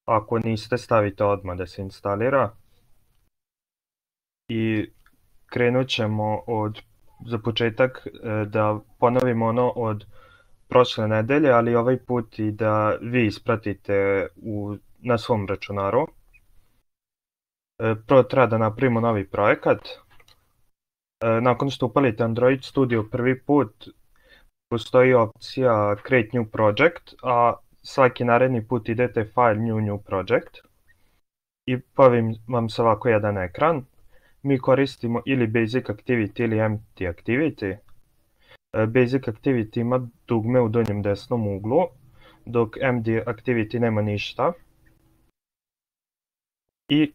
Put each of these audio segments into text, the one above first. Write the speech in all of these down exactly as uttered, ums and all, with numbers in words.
Ako niste, stavite odmah da se instalira. I krenut ćemo od, za početak da ponovimo ono od prošle nedelje, ali ovaj put i da vi ispratite u, na svom računaru. Prvo treba da napravimo novi projekat. Nakon što upalite Android Studio prvi put, postoji opcija Create New Project, a svaki naredni put idete File New New Project i pojavi vam se ovako jedan ekran. Mi koristimo ili Basic Activity ili Empty Activity. Basic Activity ima dugme u donjem desnom uglu, dok Empty Activity nema ništa. I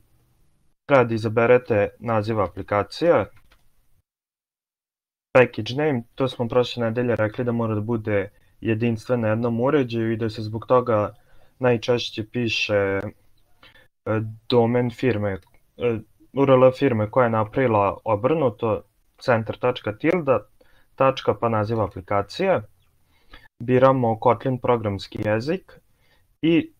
treba da izaberete naziv aplikacije. Package name, to smo prošle nedelje rekli da mora da bude jedinstven na jednom uređaju i da se zbog toga najčešće piše domen firme, U R L firme koja je napravila obrnuto, center.tilda, tačka pa naziv aplikacije. Biramo Kotlin programski jezik i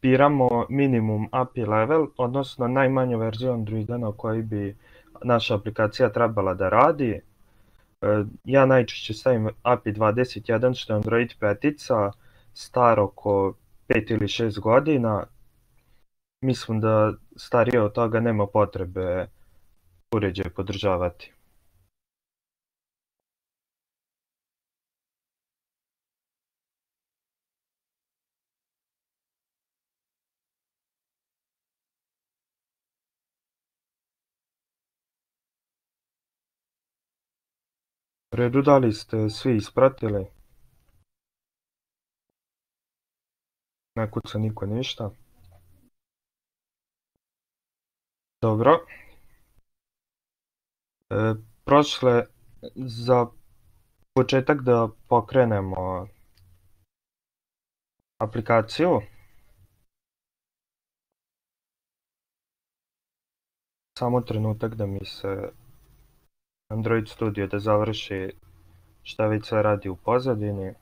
biramo minimum A P I level, odnosno najmanju verziju Androida na kojoj bi naša aplikacija trebala da radi. Ja najčešće stavim A P I dvadeset jedan, što je Android petica, star oko pet ili šest godina. Mislim da starije od toga nema potrebe uređaj podržavati. U redu, da li ste svi ispratili? Ne kuca niko ništa. Dobro. E, prošle, za početak da pokrenemo aplikaciju. Samo trenutak da mi se Android Studio da završi šta već sve radi u pozadini.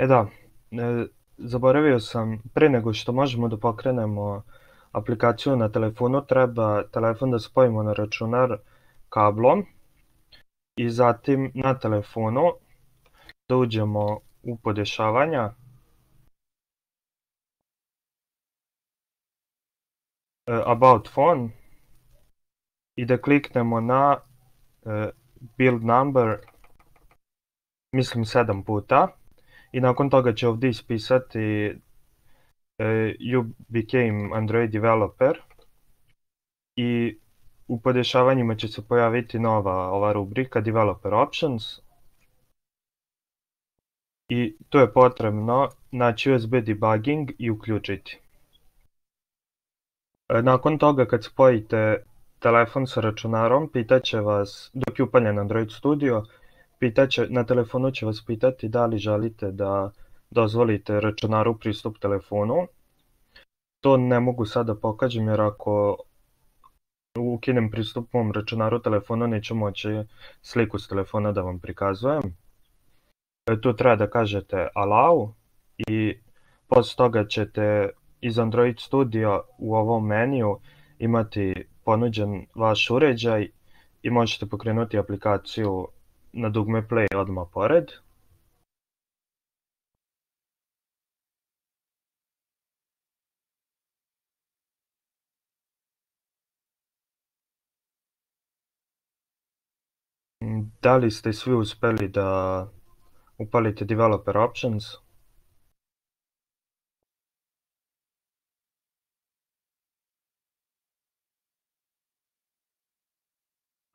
E da, e, zaboravio sam, pre nego što možemo da pokrenemo aplikaciju na telefonu, treba telefon da spojimo na računar kablom i zatim na telefonu da uđemo u podešavanja. E, about phone i da kliknemo na e, build number, mislim sedam puta. I nakon toga će ovdje ispisati uh, you became Android developer i u podešavanjima će se pojaviti nova ova rubrika developer options i tu je potrebno naći U S B debugging i uključiti. Uh, nakon toga kad spojite telefon sa računarom, pitaće vas, dok je upaljen Android Studio, Pitaće, na telefonu će vas pitati da li želite da dozvolite računaru pristup telefonu. To ne mogu sad da pokažem jer ako ukinem pristup mom računaru telefonu neću moći sliku s telefona da vam prikazujem. E, tu treba da kažete allow i posle toga ćete iz Android Studio u ovom meniju imati ponuđen vaš uređaj i možete pokrenuti aplikaciju na dugme play odmah pored. Da li ste svi uspeli da upalite developer options?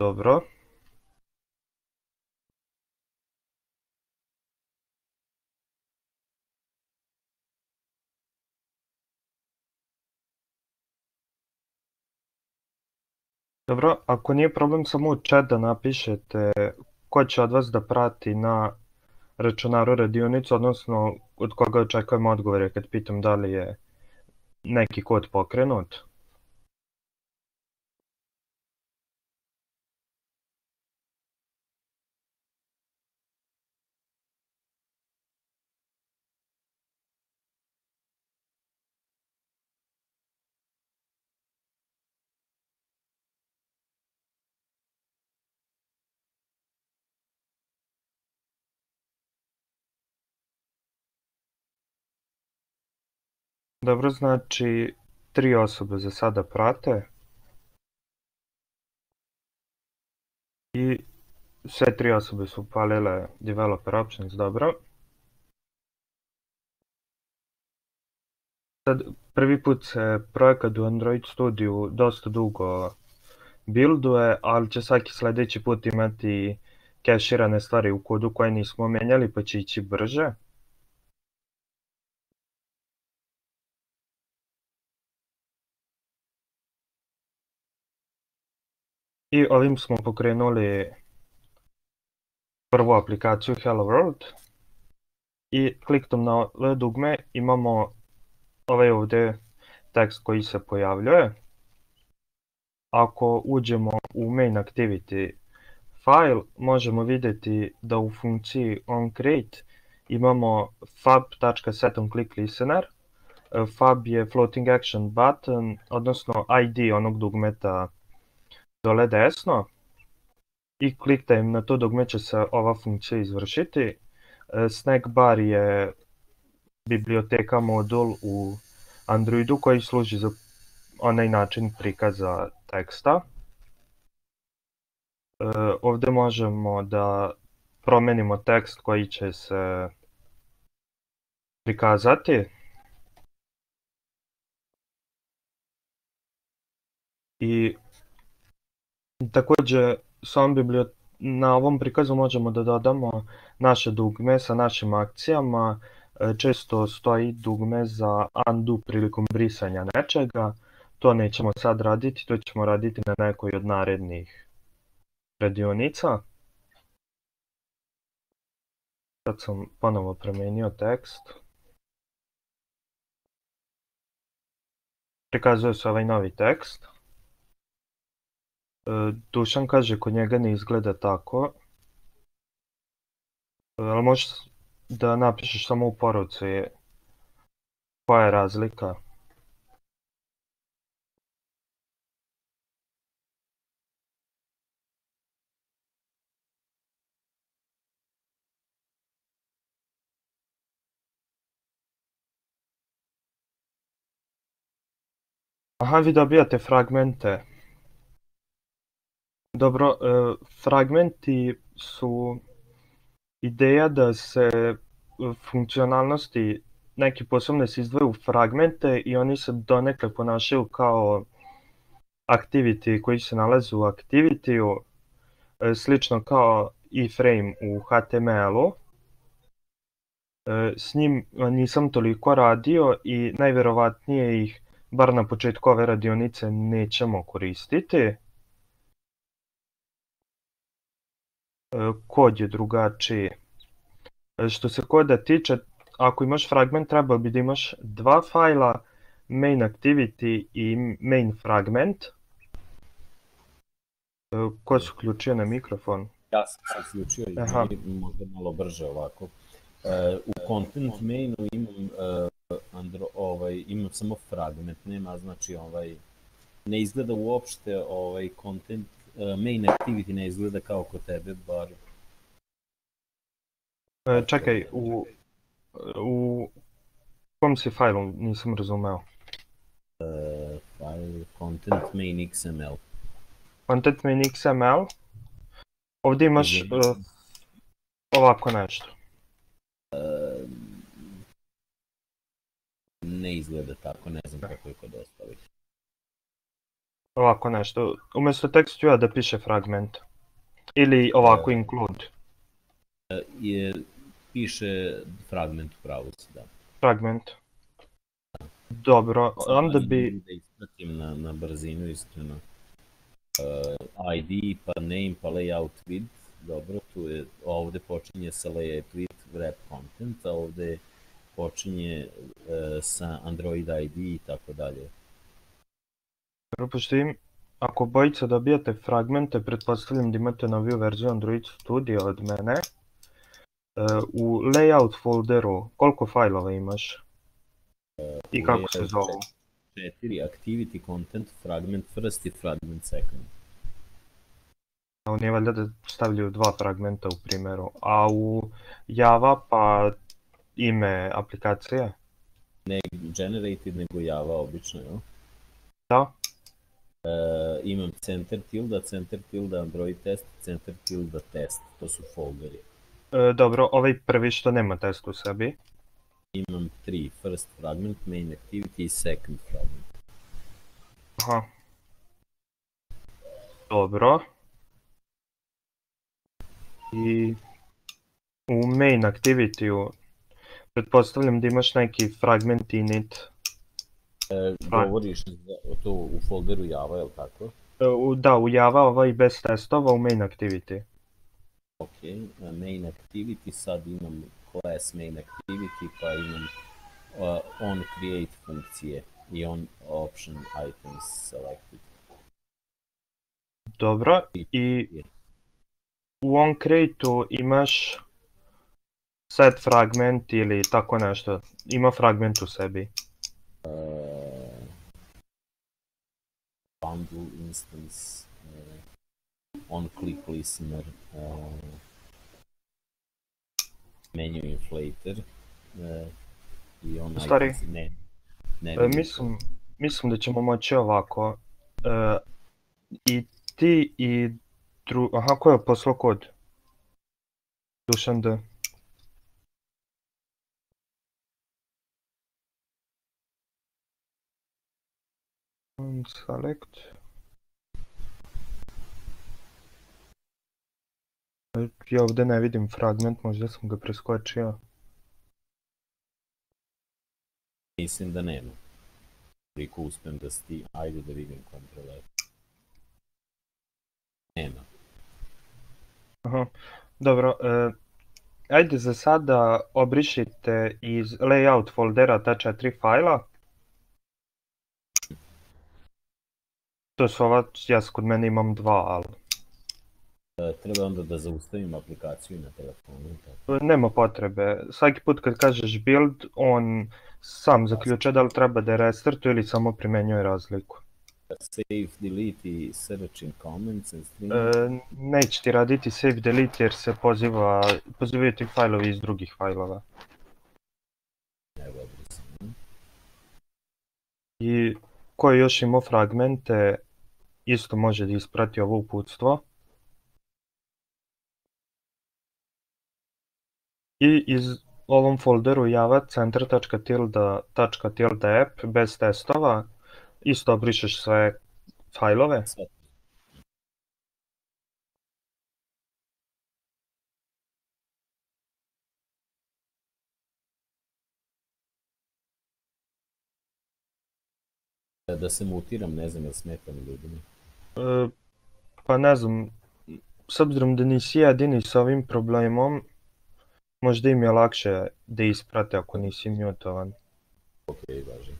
Dobro. Dobro, ako nije problem samo u chat da napišete ko će od vas da prati na računaru radionicu, odnosno od koga očekujem odgovore kad pitam da li je neki kod pokrenut. Dobro, znači tri osobe za sada prate i sve tri osobe su upalile developer options, dobro. Sad, prvi put se projekat u Android Studiju dosta dugo builduje, ali će svaki sljedeći put imati keširane stvari u kodu koje nismo menjali, pa će ići brže. I ovim smo pokrenuli prvu aplikaciju Hello World i kliknom na ovo dugme imamo ovaj ovdje tekst koji se pojavljuje. Ako uđemo u main activity file, možemo vidjeti da u funkciji onCreate imamo fab.setOnClickListener. Fab je floating action button, odnosno I D onog dugmeta dole desno. I kliktajem na to dugme će se ova funkcija izvršiti. Snack bar je biblioteka modul u Androidu koji služi za onaj način prikaza teksta. Ovdje možemo da promenimo tekst koji će se prikazati. I također s ovom bibliotekom na ovom prikazu možemo da dodamo naše dugme sa našim akcijama. Često stoji dugme za undo prilikom brisanja nečega. To nećemo sad raditi, to ćemo raditi na nekoj od narednih radionica. Sad sam ponovo promijenio tekst. Prikazuje se ovaj novi tekst. Dušan kaže kod njega ne izgleda tako. Ali možeš da napišeš samo u poruci koja je razlika. Aha, vi dobijate fragmente. Dobro, fragmenti su ideja da se funkcionalnosti neki posebne se izdvoju u fragmente i oni se donekle ponašaju kao activity koji se nalaze u activity-u, slično kao iframe u H T M L-u. S njim nisam toliko radio i najvjerovatnije ih, bar na početku ove radionice, nećemo koristiti. Kod je drugačiji. Što se koda tiče, ako imaš fragment, trebao bi da imaš dva fajla, main activity i main fragment. Ko se uključio na mikrofon? Ja sam se uključio i možda malo brže ovako. U content mainu imam, andro, ovaj, imam samo fragment, nema znači ovaj, ne izgleda uopšte ovaj content, main activity ne izgleda kao kod tebe, bar. Čekaj, u, u kom si fajlu, nisam razumeo. Uh, file content main X M L. Content main X M L. Ovdje imaš uh, ovako nešto. Uh, ne izgleda tako, ne znam kako je kod ostalih. Ovako nešto, umjesto tekstu da piše fragment. Ili ovako uh, include. Uh, je, piše fragment u pravu si, da. Fragment. Dobro, onda bi... Da ispratim na, na brzinu, iskreno. Uh, I D, pa name, pa layout width. Dobro, tu je, ovdje počinje sa layout width, wrap content, a ovdje počinje uh, sa Android I D i tako dalje. Dobro, pošto im, ako bojica dobijate fragmente, pretpostavljam da imate noviju verziju Android Studio od mene. Uh, u layout folderu, koliko fajlova imaš? Uh, I kako se zovu? Četiri, activity, content, fragment first i fragment second. A on je valjda da stavljaju dva fragmenta u primjeru, a u Java pa ime aplikacije? Ne generated, nego Java obično, jel? Da. E, imam center tilda, center tilda Android test, center tilda test, to su folderi. E, dobro, ovaj prvi što nema test u sebi. Imam tri, first fragment, main activity i second fragment. Aha. Dobro. I u main activity-u pretpostavljam da imaš neki fragment init. E, govoriš za, to u folderu Java, je li tako? E, u, da, u Java ovaj bez testova u main activity. Ok, main activity, sad imam class main activity, pa imam uh, on create funkcije i on option items selected. Dobro, i u onCreate-u imaš set fragment ili tako nešto, ima fragment u sebi. Uh, bundle instance, uh, on click listener, uh, menu inflator uh, i on Stari, items, ne, ne e, mislim, mislim da ćemo moći ovako. E, I ti i dru... Aha, ko je poslao kod? Dušan D. Select. Ja ovdje ne vidim fragment, možda sam ga preskočio. Mislim da nema. Koliko uspem da sti... Ajde da vidim kontroler. Nema. Aha, dobro. E, ajde za sada obrišite iz layout foldera ta četiri fajla. To su ova, ja kod mene imam dva, ali... E, treba onda da zaustavim aplikaciju na telefonu. Tako. Nema potrebe. Svaki put kad kažeš build, on sam zaključuje da li treba da je restartuje ili samo primenjuje razliku. Save, delete i search in comments and string. E, neće ti raditi save, delete jer se poziva, pozivaju ti fajlovi iz drugih fajlova. Evo sam. I ko je još imao fragmente, isto može da isprati ovo uputstvo. I iz ovom folderu java center.tilda.tilda.app bez testova isto obrišeš sve fajlove. Sve. Da se mutiram, ne znam, jel smetam ljudima? E, pa ne znam, s obzirom da nisi jedini s ovim problemom, možda im je lakše da isprate ako nisi mutovan. Ok, važi.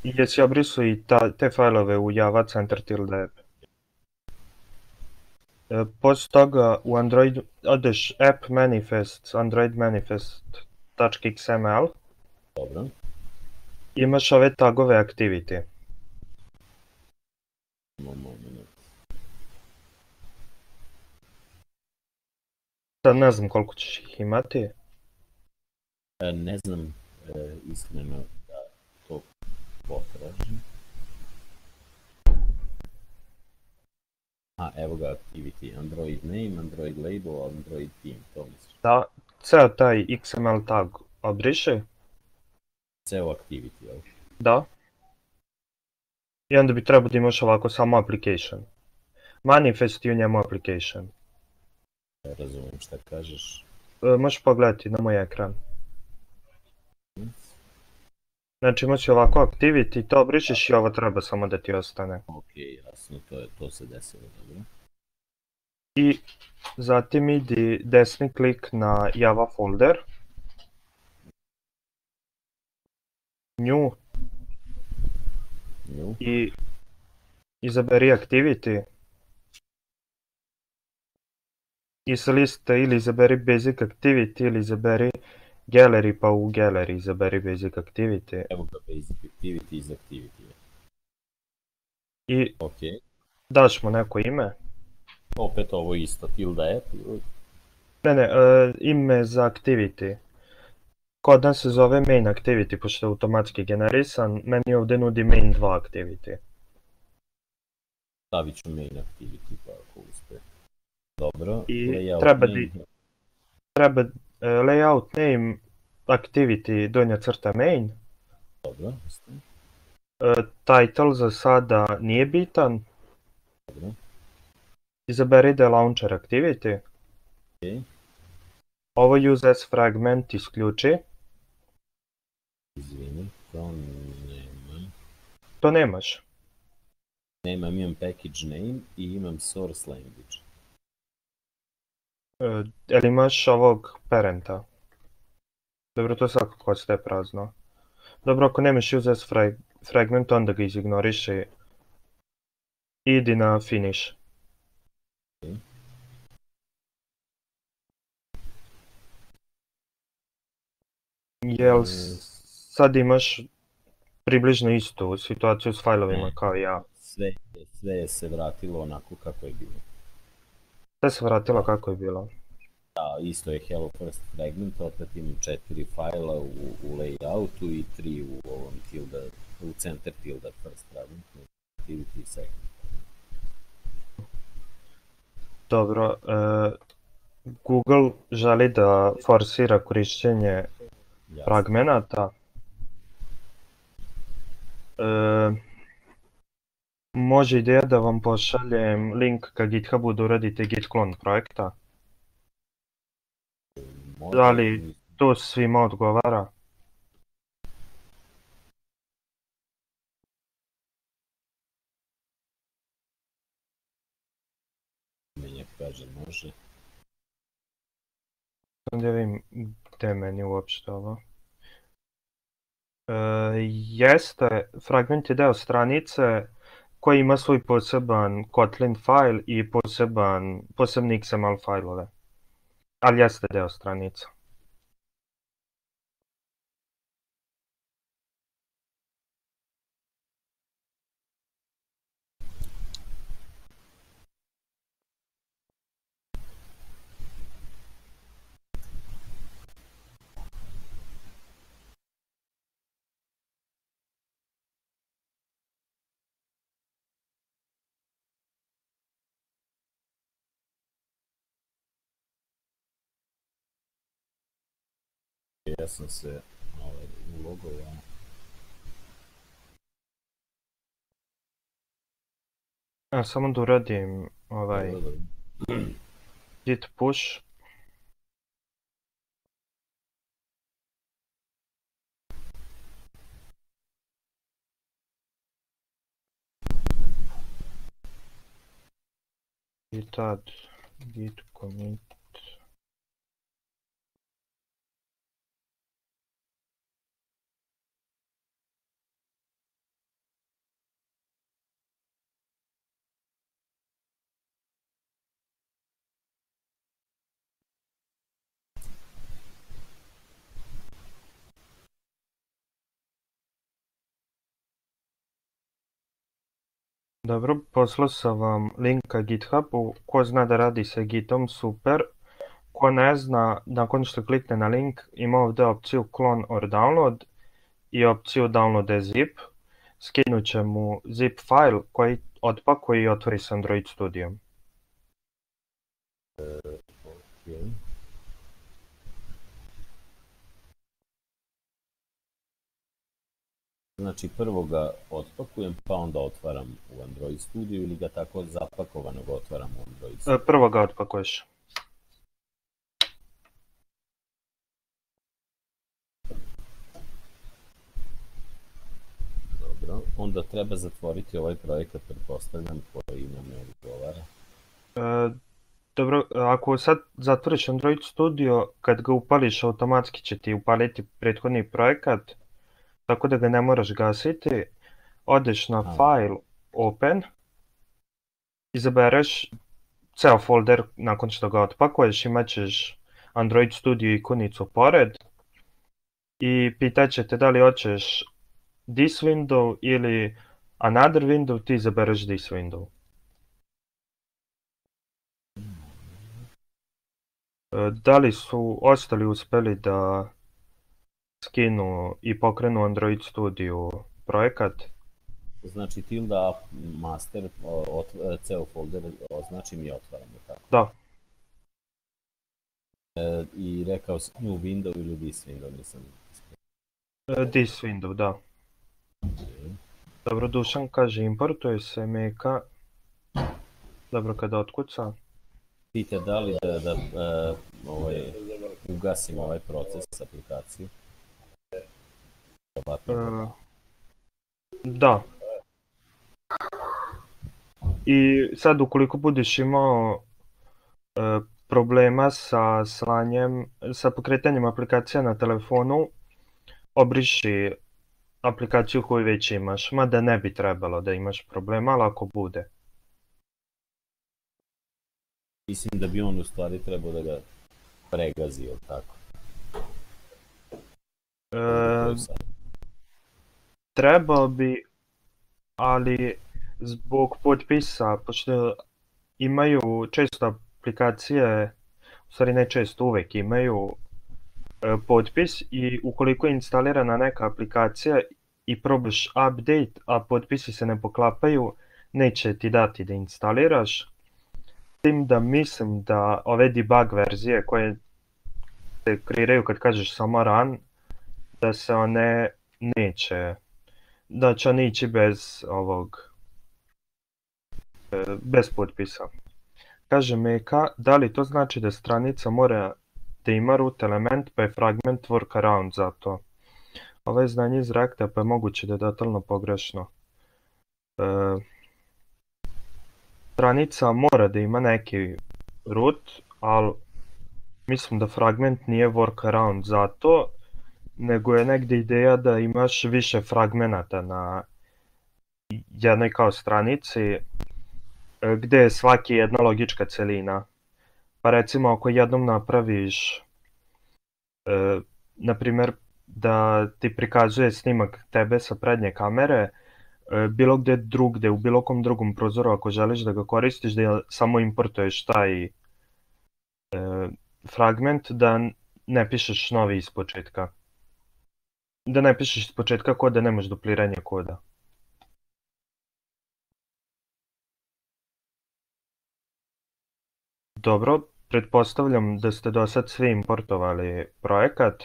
I jesi obrisao i ta, te fajlove u java center.app. E, poslije toga u Android odeš app manifests, android manifest.xml. Dobro. Imaš ove tagove activity. Moment. Sad ne znam koliko ćeš ih imati. E, ne znam, e, iskreno da to potražim. A, evo ga activity, Android name, Android label, Android team, to misliš. Da, ceo taj X M L tag obriše. Ceo activity, jel? Da. I onda bi trebao da imaš ovako samo application. Manifest i u njemu application. Ja razumijem šta kažeš. E, možeš pogledati na moj ekran. Znači imaš ovako activity, to obrišeš i ovo treba samo da ti ostane. Ok, jasno, to, je, to se desilo, dobro. I zatim idi desni klik na Java folder. New. New. I izaberi activity. I sa liste ili izaberi basic activity ili izaberi gallery, pa u gallery izaberi basic activity. Evo ga basic activity iz activity. I okay. daš mu neko ime. Opet ovo isto, tilda app ili? Ne, ne, uh, ime za activity. Kod nas se zove main activity, pošto je automatski generisan, meni ovdje nudi main dva activity. Stavit ću main activity pa ako uspe. Dobro, I layout treba, name. di, treba uh, layout name activity donja crta main. Dobro, isto. Uh, title za sada nije bitan. Dobro. Izaberi da je launcher activity. Okay. Ovo use as fragment isključi. Izvini, to nemam. To nemaš. Nemam, imam package name i imam source language. Uh, jel imaš ovog parenta? Dobro, to svakako ostaje prazno. Dobro, ako nemaš use as frag fragment, onda ga izignoriši. Idi na finish. Okay. Jel sad imaš približno istu situaciju s failovima ne. kao ja? Sve, sve se vratilo onako kako je bilo. Sve se vratilo kako je bilo. Da, isto je hello first fragment, opet imam četiri fajla u, u layoutu i tri u ovom tilda, u center tilda first fragment, activity second. Dobro, uh, Google želi da forsira korišćenje Jasne. fragmenata. Uh, može ideja da vam pošaljem link ka GitHubu da uradite git clone projekta. Može, Da li to svima odgovara? Menjak kaže može. Da vidim gde meni uopšte ovo. E, jeste, fragment je deo stranice koji ima svoj poseban Kotlin file i poseban, posebni X M L failove. Ali jeste deo stranice. Ja sam se ovaj, ulogovao. Ja samo da uradim ovaj git push. I tad git commit. Dobro, poslao sam vam link ka GitHubu, ko zna da radi sa Gitom, super. Ko ne zna, nakon što klikne na link, ima ovdje opciju clone or download i opciju download as zip. Skinut će mu zip file koji otpakuje i otvori s Android Studio. Okay. Znači prvo ga otpakujem pa onda otvaram u Android Studio ili ga tako zapakovanog otvaram u Android Studio? Prvo ga otpakuješ. Dobro, onda treba zatvoriti ovaj projekat, pretpostavljam, koji nam ne odgovara. E, dobro, ako sad zatvoriš Android Studio, kad ga upališ automatski će ti upaliti prethodni projekat, tako da ga ne moraš gasiti. Odeš na A. file, open, izabereš ceo folder nakon što ga otpakuješ, imat ćeš Android Studio ikonicu pored i pitat će te da li hoćeš this window ili another window, ti izabereš this window. Da li su ostali uspeli da skinu i pokrenu Android Studio projekat. Znači tilda app master, ceo folder označim i otvaram. Da. I rekao si new window ili this window, nisam... This window, da. Dobro, Dušan kaže importuje se Meka. Dobro, kada otkuca. Pite da li da ugasim ovaj proces s aplikaciju? Da. I sad ukoliko budeš imao problema sa slanjem, sa pokretanjem aplikacija na telefonu, obriši aplikaciju koju već imaš, mada ne bi trebalo da imaš problema, ali ako bude. Mislim da bi on u stvari trebao da ga pregazi, ili tako? Trebao bi, ali zbog potpisa, pošto imaju često aplikacije, u stvari ne često, uvek imaju potpis i ukoliko je instalirana neka aplikacija i probaš update, a potpisi se ne poklapaju, neće ti dati da instaliraš. S tim da mislim da ove debug verzije koje se kreiraju kad kažeš samo run, da se one neće, da će one ići bez ovog, bez potpisa. Kaže Meka, da li to znači da stranica mora da ima root element pa je fragment workaround za to? Ovo je znanje iz Reacta pa je moguće da je totalno pogrešno. Stranica mora da ima neki root, ali mislim da fragment nije workaround za to, nego je negdje ideja da imaš više fragmenata na jednoj kao stranici, gdje je svaki jedna logička celina. Pa recimo ako jednom napraviš, na primjer da ti prikazuje snimak tebe sa prednje kamere, bilo gdje drugdje, u bilo kom drugom prozoru ako želiš da ga koristiš, da samo importuješ taj fragment, da ne pišeš novi iz početka. Da ne pišeš iz početka kod da nemaš dupliranje koda. Dobro, pretpostavljam da ste do sad svi importovali projekat.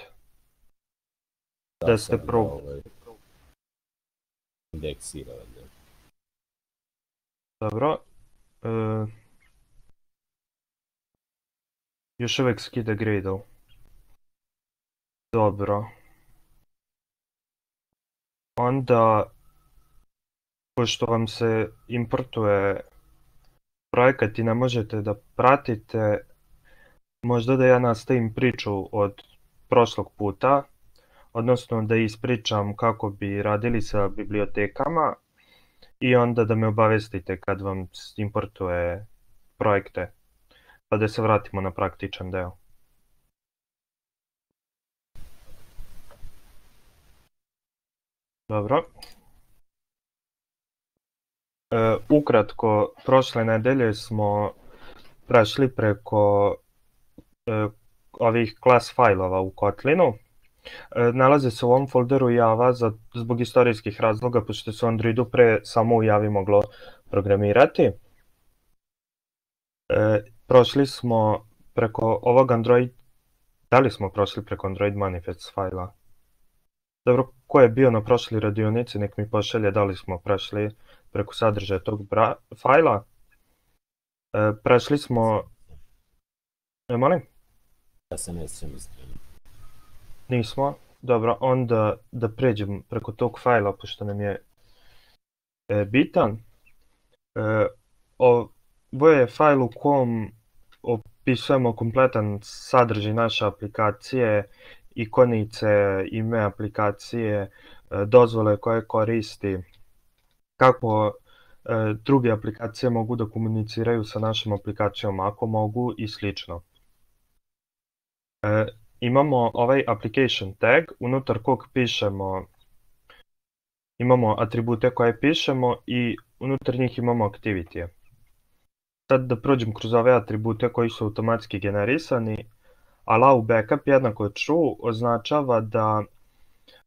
Da ste pro... indeksirali. Dobro. Još uvijek skida Gradle. Dobro. Onda, pošto vam se importuje projekat i ne možete da pratite, možda da ja nastavim priču od prošlog puta, odnosno da ispričam kako bi radili sa bibliotekama i onda da me obavestite kad vam importuje projekte, pa da se vratimo na praktičan deo. Dobro. E, ukratko, prošle nedelje smo prešli preko e, ovih klas fajlova u Kotlinu. E, nalaze se u ovom folderu Java za, zbog istorijskih razloga, pošto se u Androidu pre samo u Javi moglo programirati. E, prošli smo preko ovog Android... Da li smo prošli preko Android manifest fajla? Dobro, ko je bio na prošli radionici, nek mi pošalje da li smo prešli preko sadržaja tog fajla. E, prešli smo... E, molim? Ja se ne sjećam iskreno. Nismo? Dobro, onda da pređem preko tog fajla, pošto nam je e, bitan. E, ovo je fajl u kom opisujemo kompletan sadržaj naše aplikacije, ikonice, ime aplikacije, dozvole koje koristi, kako druge aplikacije mogu da komuniciraju sa našom aplikacijom, ako mogu i slično. Imamo ovaj application tag, unutar kog pišemo, imamo atribute koje pišemo i unutar njih imamo activity. Sad da prođem kroz ove atribute koji su automatski generisani. Allow backup jednako true označava da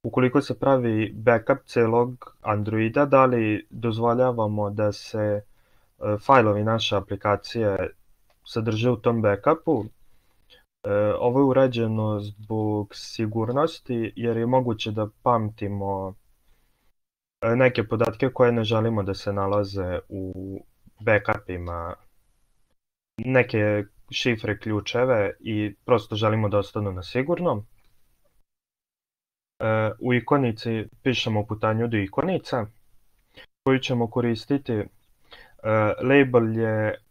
ukoliko se pravi backup celog Androida, da li dozvoljavamo da se e, fajlovi naše aplikacije sadrže u tom backupu. E, ovo je urađeno zbog sigurnosti jer je moguće da pamtimo e, neke podatke koje ne želimo da se nalaze u backupima, neke šifre, ključeve i prosto želimo da ostanu na sigurnom. E, u ikonici pišemo putanju do ikonice koju ćemo koristiti. E, label je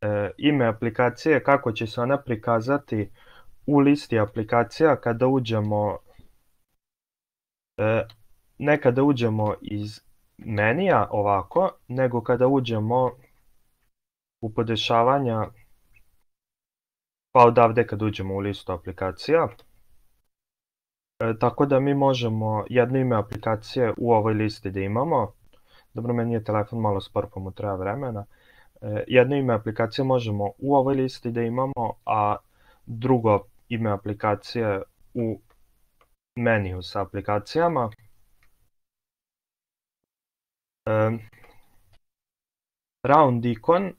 e, ime aplikacije, kako će se ona prikazati u listi aplikacija kada uđemo, e, ne kada uđemo iz menija ovako, nego kada uđemo u podešavanja, pa odavde kad uđemo u listu aplikacija. E, tako da mi možemo jedno ime aplikacije u ovoj listi da imamo. Dobro, meni je telefon malo spor pa mu treba vremena. E, jedno ime aplikacije možemo u ovoj listi da imamo, a drugo ime aplikacije u meniju sa aplikacijama. E, round ikon, e,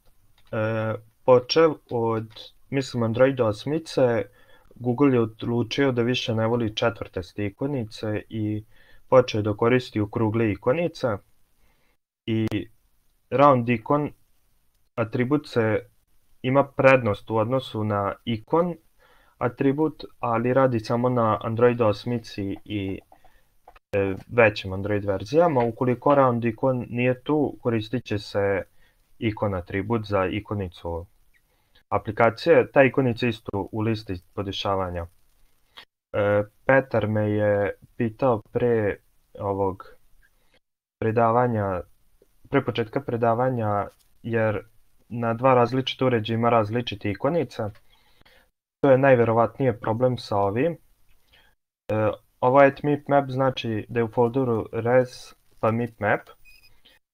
počev od, mislim, Android osmice, Google je odlučio da više ne voli četvrtaste ikonice i počeo da koristi okrugle ikonice. I round ikon atribut se ima prednost u odnosu na ikon atribut, ali radi samo na Android osmici i e, većim Android verzijama. Ukoliko round ikon nije tu, koristit će se ikon atribut za ikonicu aplikacije. Ta ikonica isto u listi podešavanja. E, Petar me je pitao pre ovog predavanja, pre početka predavanja, jer na dva različita uređaja ima različite ikonice. To je najverovatnije problem sa ovim. E, ovo je mipmap, znači da je u folderu res pa mipmap.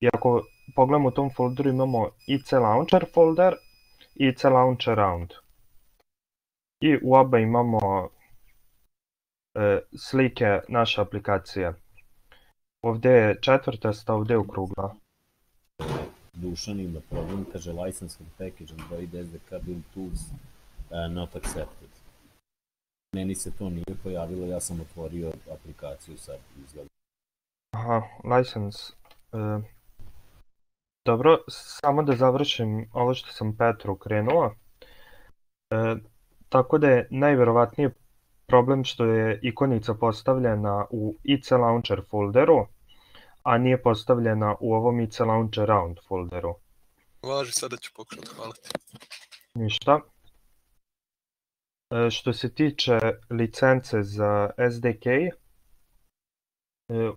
I ako pogledamo u tom folderu imamo I C Launcher folder i I C Launcher round. I u oba imamo e, slike naše aplikacije. Ovdje je četvrtasta, ovdje je okrugla. Dušan ima problem, kaže license for package Android S D K build tools uh, not accepted. Meni se to nije pojavilo, ja sam otvorio aplikaciju sad izgleda. Aha, license. E, dobro, samo da završim ovo što sam Petru krenuo. E, tako da je najverovatnije problem što je ikonica postavljena u I C Launcher folderu, a nije postavljena u ovom I C Launcher round folderu. Važi, sada ću pokušati, hvala ti. Ništa. E, što se tiče licence za S D K, e,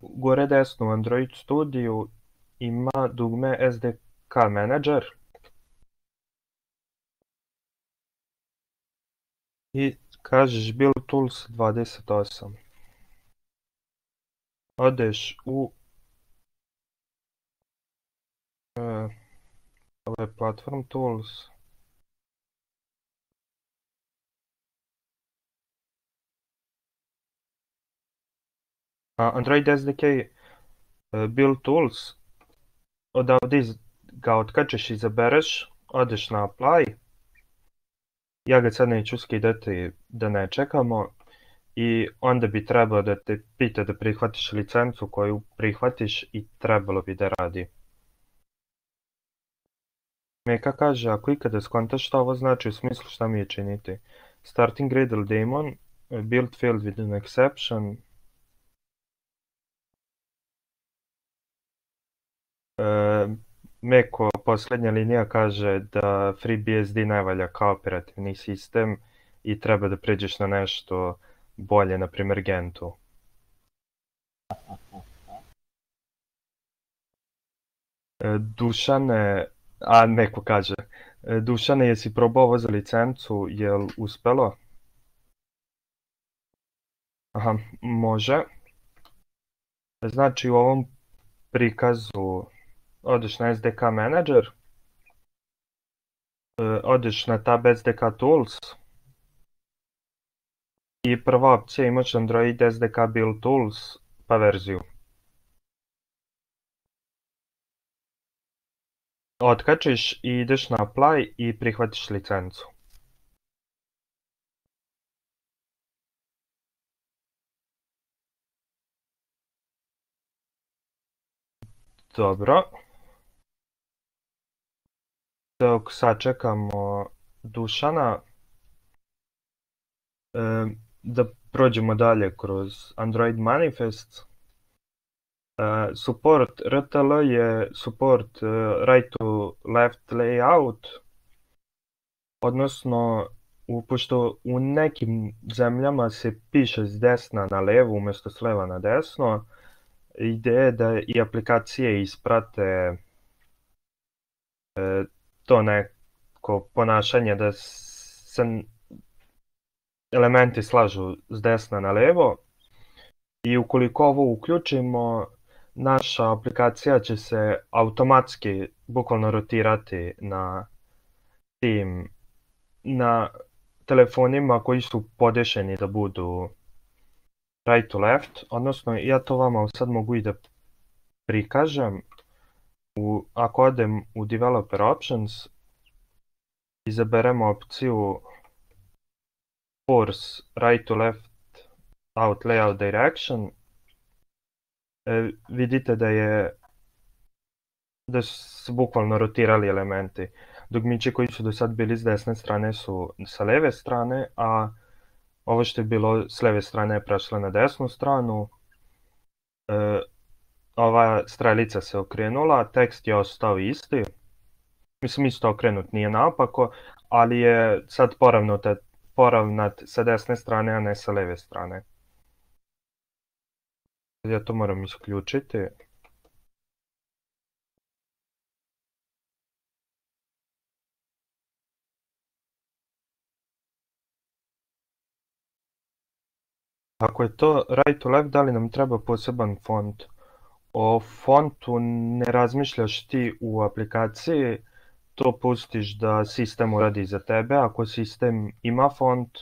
gore desno u Android Studiju ima dugme S D K Manager. I kažeš Build Tools dvadeset osam. Odeš u e, ovo je Platform Tools. A Android S D K e, Build Tools. Odavde ga otkačeš i izabereš, odeš na Apply. Ja ga sad neću skidati da ne čekamo. I onda bi trebalo da te pita da prihvatiš licencu koju prihvatiš i trebalo bi da radi. Meka kaže, ako ikada skontaš šta ovo znači, u smislu šta mi je činiti. Starting Gradle daemon, build failed with an exception. E, Meko, posljednja linija kaže da FreeBSD ne valja kao operativni sistem i treba da pređeš na nešto bolje, na primjer Gentu. E, Dušane, a neko kaže, e, Dušane, jesi probao ovo za licencu, jel uspelo? Aha, može. Znači u ovom prikazu odeš na S D K Manager, e, odeš na tab S D K Tools I prva opcija imaš Android S D K Build Tools pa verziju. Otkačiš i ideš na Apply i prihvatiš licencu. Dobro. Dok sačekamo Dušana, da prođemo dalje kroz Android Manifest. Support R T L je support right to left layout, odnosno pošto u nekim zemljama se piše s desna na levo umjesto s leva na desno, ideja je da i aplikacije isprate to neko ponašanje da se elementi slažu s desna na levo i ukoliko ovo uključimo, naša aplikacija će se automatski bukvalno rotirati na tim, na telefonima koji su podešeni da budu right to left, odnosno ja to vama sad mogu i da prikažem. U, ako odem u Developer Options, izaberemo opciju Force right to left out layout direction, e, vidite da je da su bukvalno rotirali elementi. Dugmići koji su do sad bili s desne strane su sa leve strane, a ovo što je bilo s leve strane je prešlo na desnu stranu. E, ova strelica se okrenula, tekst je ostao isti. Mislim, isto okrenut, nije naopako, ali je sad poravnat, poravnat sa desne strane, a ne sa leve strane. Ja to moram isključiti. Ako je to right to left, da li nam treba poseban font? O fontu ne razmišljaš ti u aplikaciji, to pustiš da sistem uradi za tebe. Ako sistem ima font,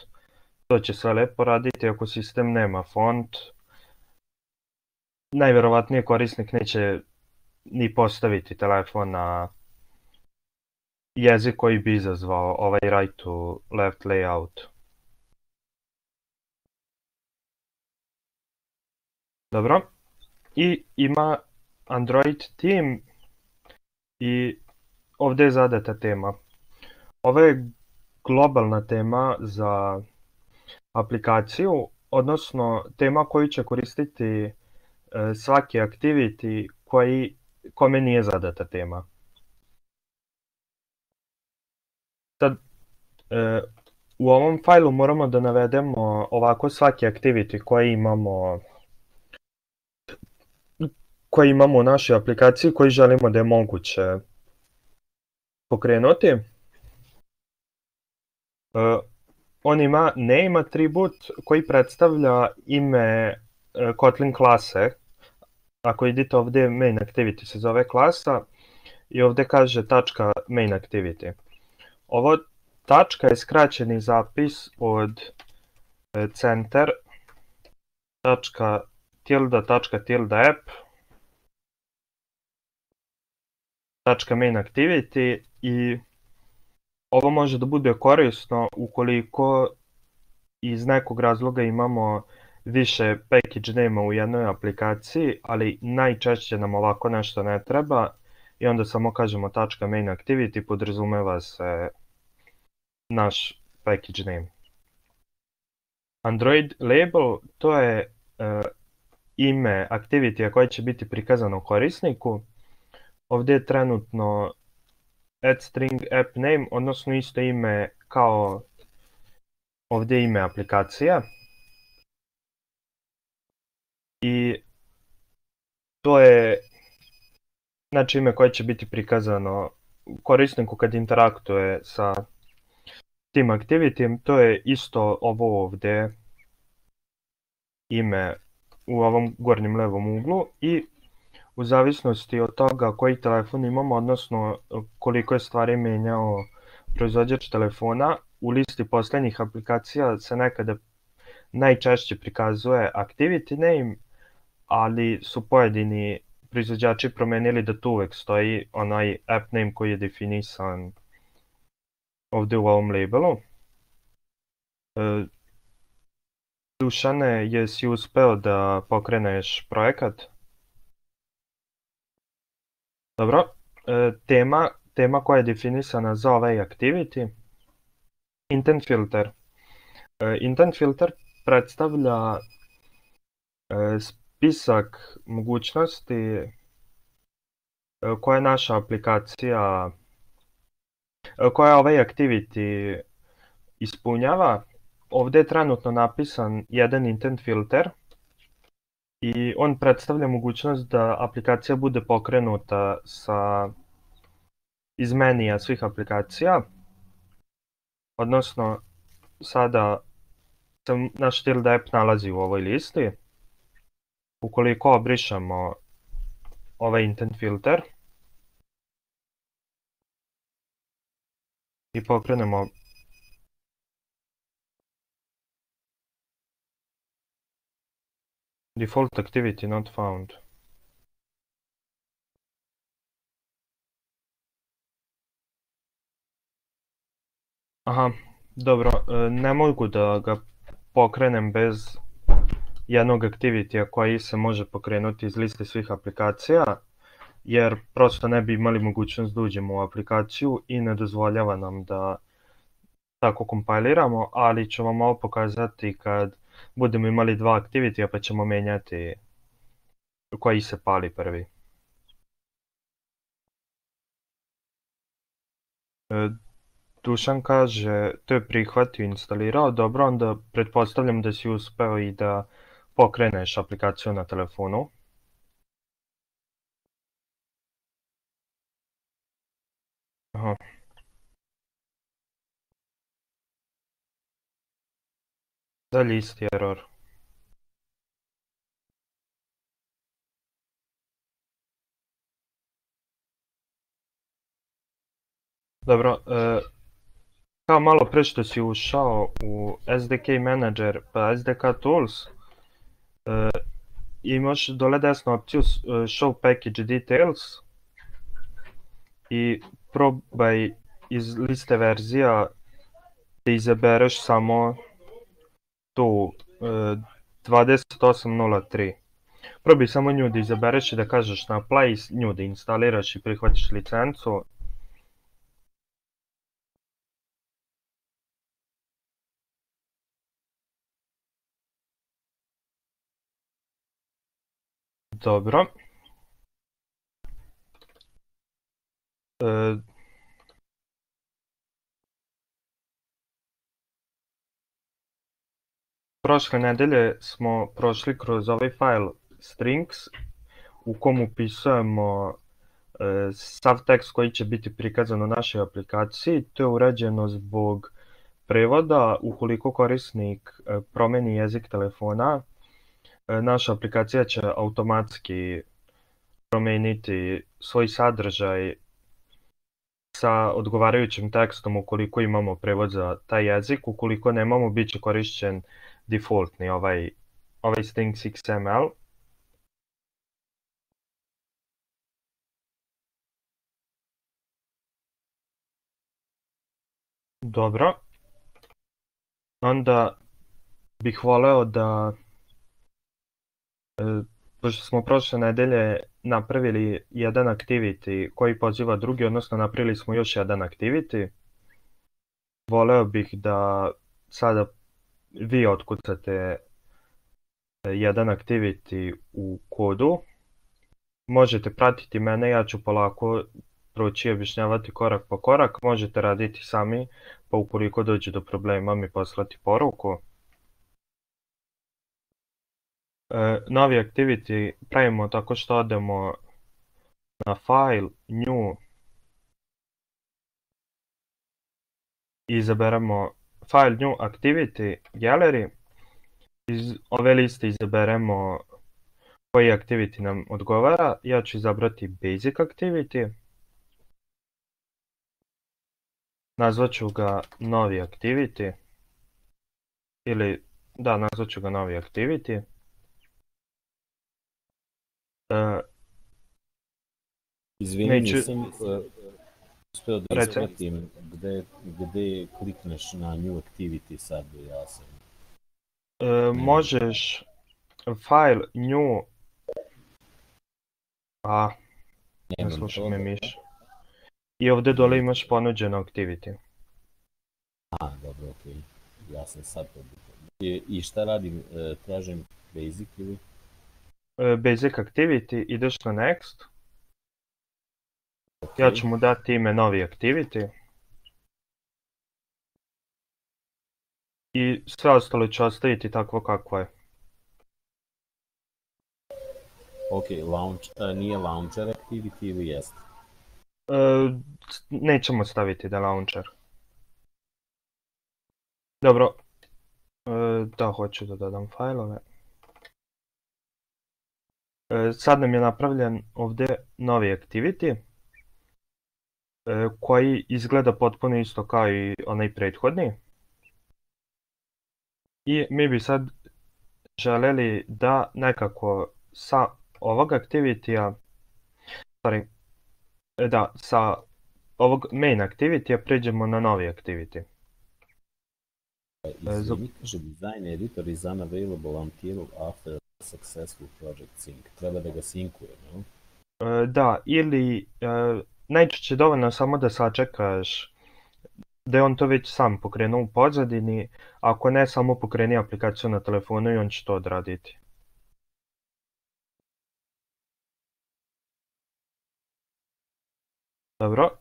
to će sve lepo raditi. Ako sistem nema font, najverovatnije korisnik neće ni postaviti telefon na jezik koji bi izazvao ovaj right to left layout. Dobro. I ima Android Theme i ovdje je zadata tema. Ovo je globalna tema za aplikaciju, odnosno tema koju će koristiti svaki activity koji, kome nije zadata tema. Sad, u ovom fajlu moramo da navedemo ovako svaki activity koji imamo koji imamo u našoj aplikaciji, koji želimo da je moguće pokrenuti. On ima name atribut koji predstavlja ime Kotlin klase. Ako idete ovdje, main activity se zove klasa i ovdje kaže tačka main activity. Ovo tačka je skraćeni zapis od center tačka tilda tačka tilda app tačka main activity i ovo može da bude korisno ukoliko iz nekog razloga imamo više package name u jednoj aplikaciji, ali najčešće nam ovako nešto ne treba i onda samo kažemo tačka main activity, podrazumeva se naš package name. Android label, to je uh, ime activity koje će biti prikazano korisniku. Ovdje je trenutno add string app name, odnosno isto ime kao ovdje ime aplikacije. I to je znači ime koje će biti prikazano korisniku kad interaktuje sa tim activity. To je isto ovo ovdje ime u ovom gornjem levom uglu i u zavisnosti od toga koji telefon imamo, odnosno koliko je stvari menjao proizvođač telefona, u listi posljednjih aplikacija se nekada najčešće prikazuje activity name, ali su pojedini proizvođači promenili da tu uvek stoji onaj app name koji je definisan ovdje u ovom labelu. E, Dušane, jesi uspeo da pokreneš projekat? Dobro, e, tema, tema koja je definisana za ovaj activity, intent filter. E, intent filter predstavlja e, spisak mogućnosti e, koje naša aplikacija, e, koja ovaj activity ispunjava. Ovdje je trenutno napisan jedan intent filter i on predstavlja mogućnost da aplikacija bude pokrenuta sa iz menija svih aplikacija, odnosno sada se naš tilde app nalazi u ovoj listi. Ukoliko obrišemo ovaj intent filter i pokrenemo default activity not found. Aha, dobro, ne mogu da ga pokrenem bez jednog activitya koji se može pokrenuti iz liste svih aplikacija, jer prosto ne bi imali mogućnost da uđemo u aplikaciju i ne dozvoljava nam da tako kompiliramo, ali ću vam ovo pokazati kad budemo imali dva activitya pa ćemo menjati koji se pali prvi. Dušan kaže, to je prihvatio i instalirao, dobro, onda pretpostavljam da si uspeo i da pokreneš aplikaciju na telefonu. Aha. Dalje isti error. Dobro, e, kao malo pre što si ušao u S D K Manager pa S D K Tools, e, imaš dole desnu opciju Show Package Details i probaj iz liste verzija da izabereš samo tu e, dvadeset osam nula tri. Probaj samo nju da izabereš i da kažeš na apply, nju da instaliraš i prihvatiš licencu. Dobro. E, prošle nedelje smo prošli kroz ovaj file strings u kom upisujemo e, sav tekst koji će biti prikazan u našoj aplikaciji. To je urađeno zbog prevoda. Ukoliko korisnik e, promeni jezik telefona, e, naša aplikacija će automatski promeniti svoj sadržaj sa odgovarajućim tekstom ukoliko imamo prevod za taj jezik. Ukoliko nemamo, bit će korišćen defaultni ovaj, ovaj strings X M L. Dobro. Onda bih voleo da, e, pošto smo prošle nedelje napravili jedan activity koji poziva drugi, odnosno napravili smo još jedan activity, voleo bih da sada vi otkucate jedan activity u kodu. Možete pratiti mene, ja ću polako proći i objašnjavati korak po korak. Možete raditi sami, pa ukoliko dođe do problema mi poslati poruku. E, novi activity pravimo tako što odemo na file, new i izaberemo file, new, activity, gallery. Iz ove liste izaberemo koji activity nam odgovara. Ja ću izabrati basic activity. Nazvat ću ga novi activity ili da, nazvat ću ga novi activity. Uh, Izvini, neću, nisam uh, uspeo da reci. ispratim gde, gde klikneš na new activity sad, ja sam. Uh, možeš file new, a ne Nemam sluša to, me da. miš. I ovdje dole imaš ponuđeno activity. A, dobro, okej. Okay. Ja sam sad to I, I šta radim? E, tražim basic ili? Uh, basic activity, ideš na next. Okay. Ja ću mu dati ime novi activity. I sve ostalo ću ostaviti takvo kakvo je. Ok, launch, uh, nije launcher activity ili jest? Uh, nećemo staviti da je launcher. Dobro. Uh, da, hoću da dodam fajlove. Uh, sad nam je napravljen ovdje novi activity. Uh, koji izgleda potpuno isto kao i onaj prethodni. I mi bi sad željeli da nekako sa ovog activity-a, sorry, da, sa ovog main activity-a pređemo na novi activity. Izvini, kaže design editor is unavailable until after a successful project sync. Treba da ga sinkuje, no? Da, ili najčešće dovoljno samo da sačekaš da je on to već sam pokrenuo u pozadini, ako ne samo pokreni aplikaciju na telefonu i on će to odraditi. Dobro,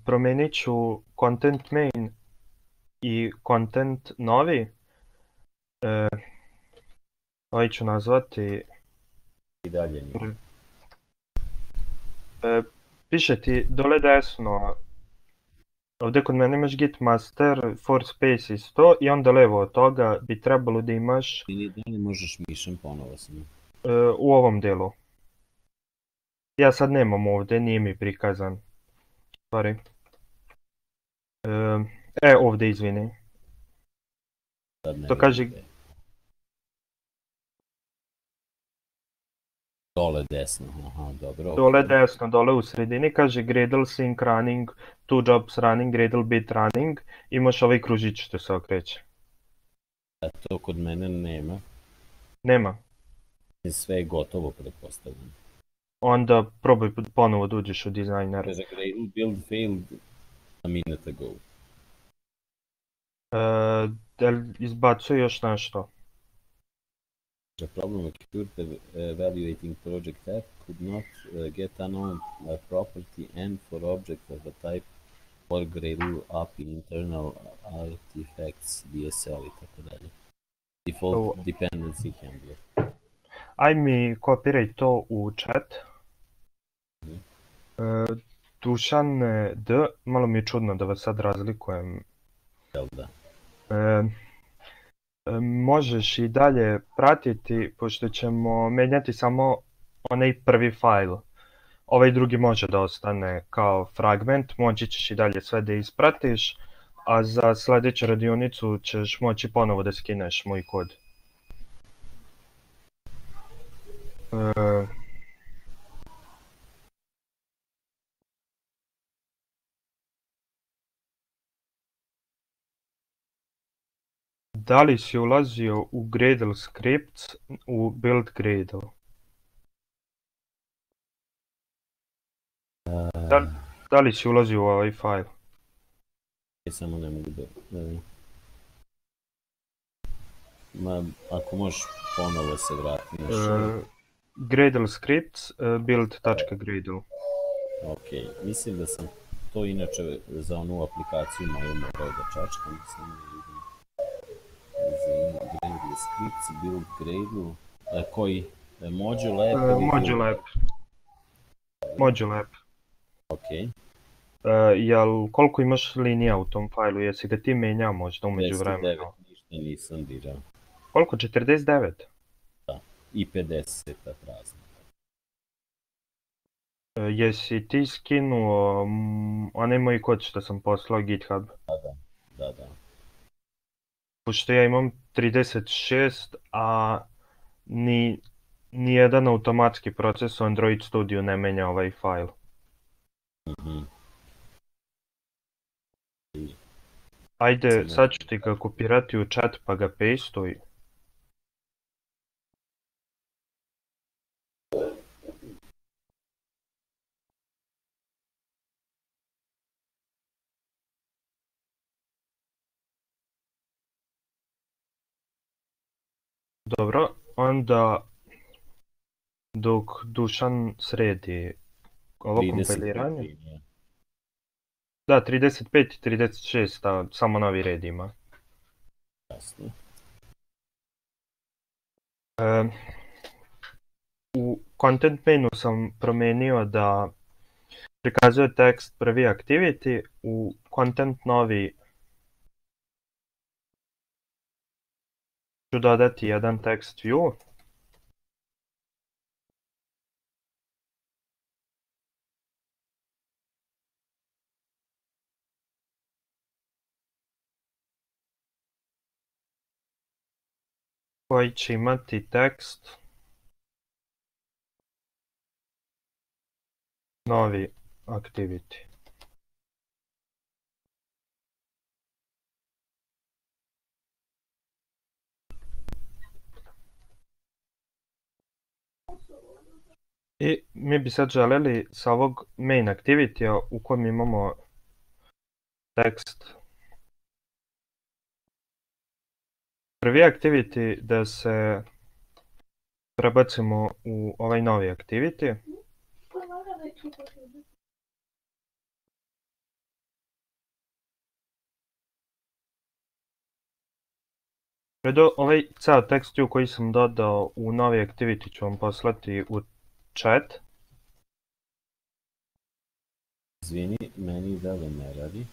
promijenit ću content main i content novi. Ovaj ću nazvati... I dalje nije. Piše ti dole desno, ovdje kod mene imaš git master, for space isto i onda levo od toga bi trebalo da imaš... I da li možeš mišem ponovo sam? U ovom delu. Ja sad nemam ovdje, nije mi prikazan. Sorry. E, ovdje, izvini. To kaže... Dole desno, aha, dobro. Dole desno, dole u sredini kaže Gradle sync running, two jobs running, Gradle bit running. Imaš ovaj kružić što se okreće. A to kod mene nema. Nema. Sve je gotovo, pretpostavljam. Onda probaj ponovo da uđeš u dizajner. Kaže Gradle build failed a minute ago. Uh, da li izbacuje još nešto? The problem occurred evaluating project app could not uh, get unknown uh, property and for object of a type or Gradle A P I internal artifacts D S L i tako dalje. Default oh. dependency handler. Aj mi kopiraj to u chat. Mm. Uh, Dušan D, malo mi je čudno da vas sad razlikujem. Jel da? Uh, Možeš i dalje pratiti, pošto ćemo menjati samo onaj prvi fajl. Ovaj drugi može da ostane kao fragment, moći ćeš i dalje sve da ispratiš, a za sljedeću radionicu ćeš moći ponovo da skineš moj kod. Uh, Da li si ulazio u Gradle scripts u build Gradle? Uh, da, da li si ulazio u ovaj fajl? Samo ne mogu da... Ne. Ma, ako možeš ponovo se vrati na što... Uh, Gradle scripts, uh, build.gradle. Ok, mislim da sam to inače za onu aplikaciju moju morao da čačkam, sam ne vidim. Gradle scripts, build Gradle, e, koji? E, module app? Uh, module app. Module app. Ok. Uh, jel, koliko imaš linija u tom fajlu, jesi ga ti menjao možda umeđu vremena? pedeset devet, ništa nisam dirao. Koliko, četrdeset devet? Da, i pedeset prazno. Uh, jesi ti skinuo um, onaj moj kod što sam poslao GitHub? Da, da, da, da. pošto ja imam trideset šest, a ni, nijedan automatski proces u Android Studio ne menja ovaj fajl. Mhm. Ajde, sad ću ti ga kopirati u chat pa ga pastuj. Dobro, onda dok Dušan sredi ovo kompiliranje. trideset pet, Da, trideset pet i trideset šest, a samo novi red ima. jasno. E, u content menu sam promenio da prikazuje tekst prvi activity, u content novi ću dodati jedan text view. Koji će imati tekst novi activity. I mi bi sad želeli sa ovog main activity-a u kojem imamo tekst prvi activity da se prebacimo u ovaj novi activity. Predo, ovaj ceo tekst view koji sam dodao u novi activity ću vam poslati u chat. Izvini, meni dalje ne radi.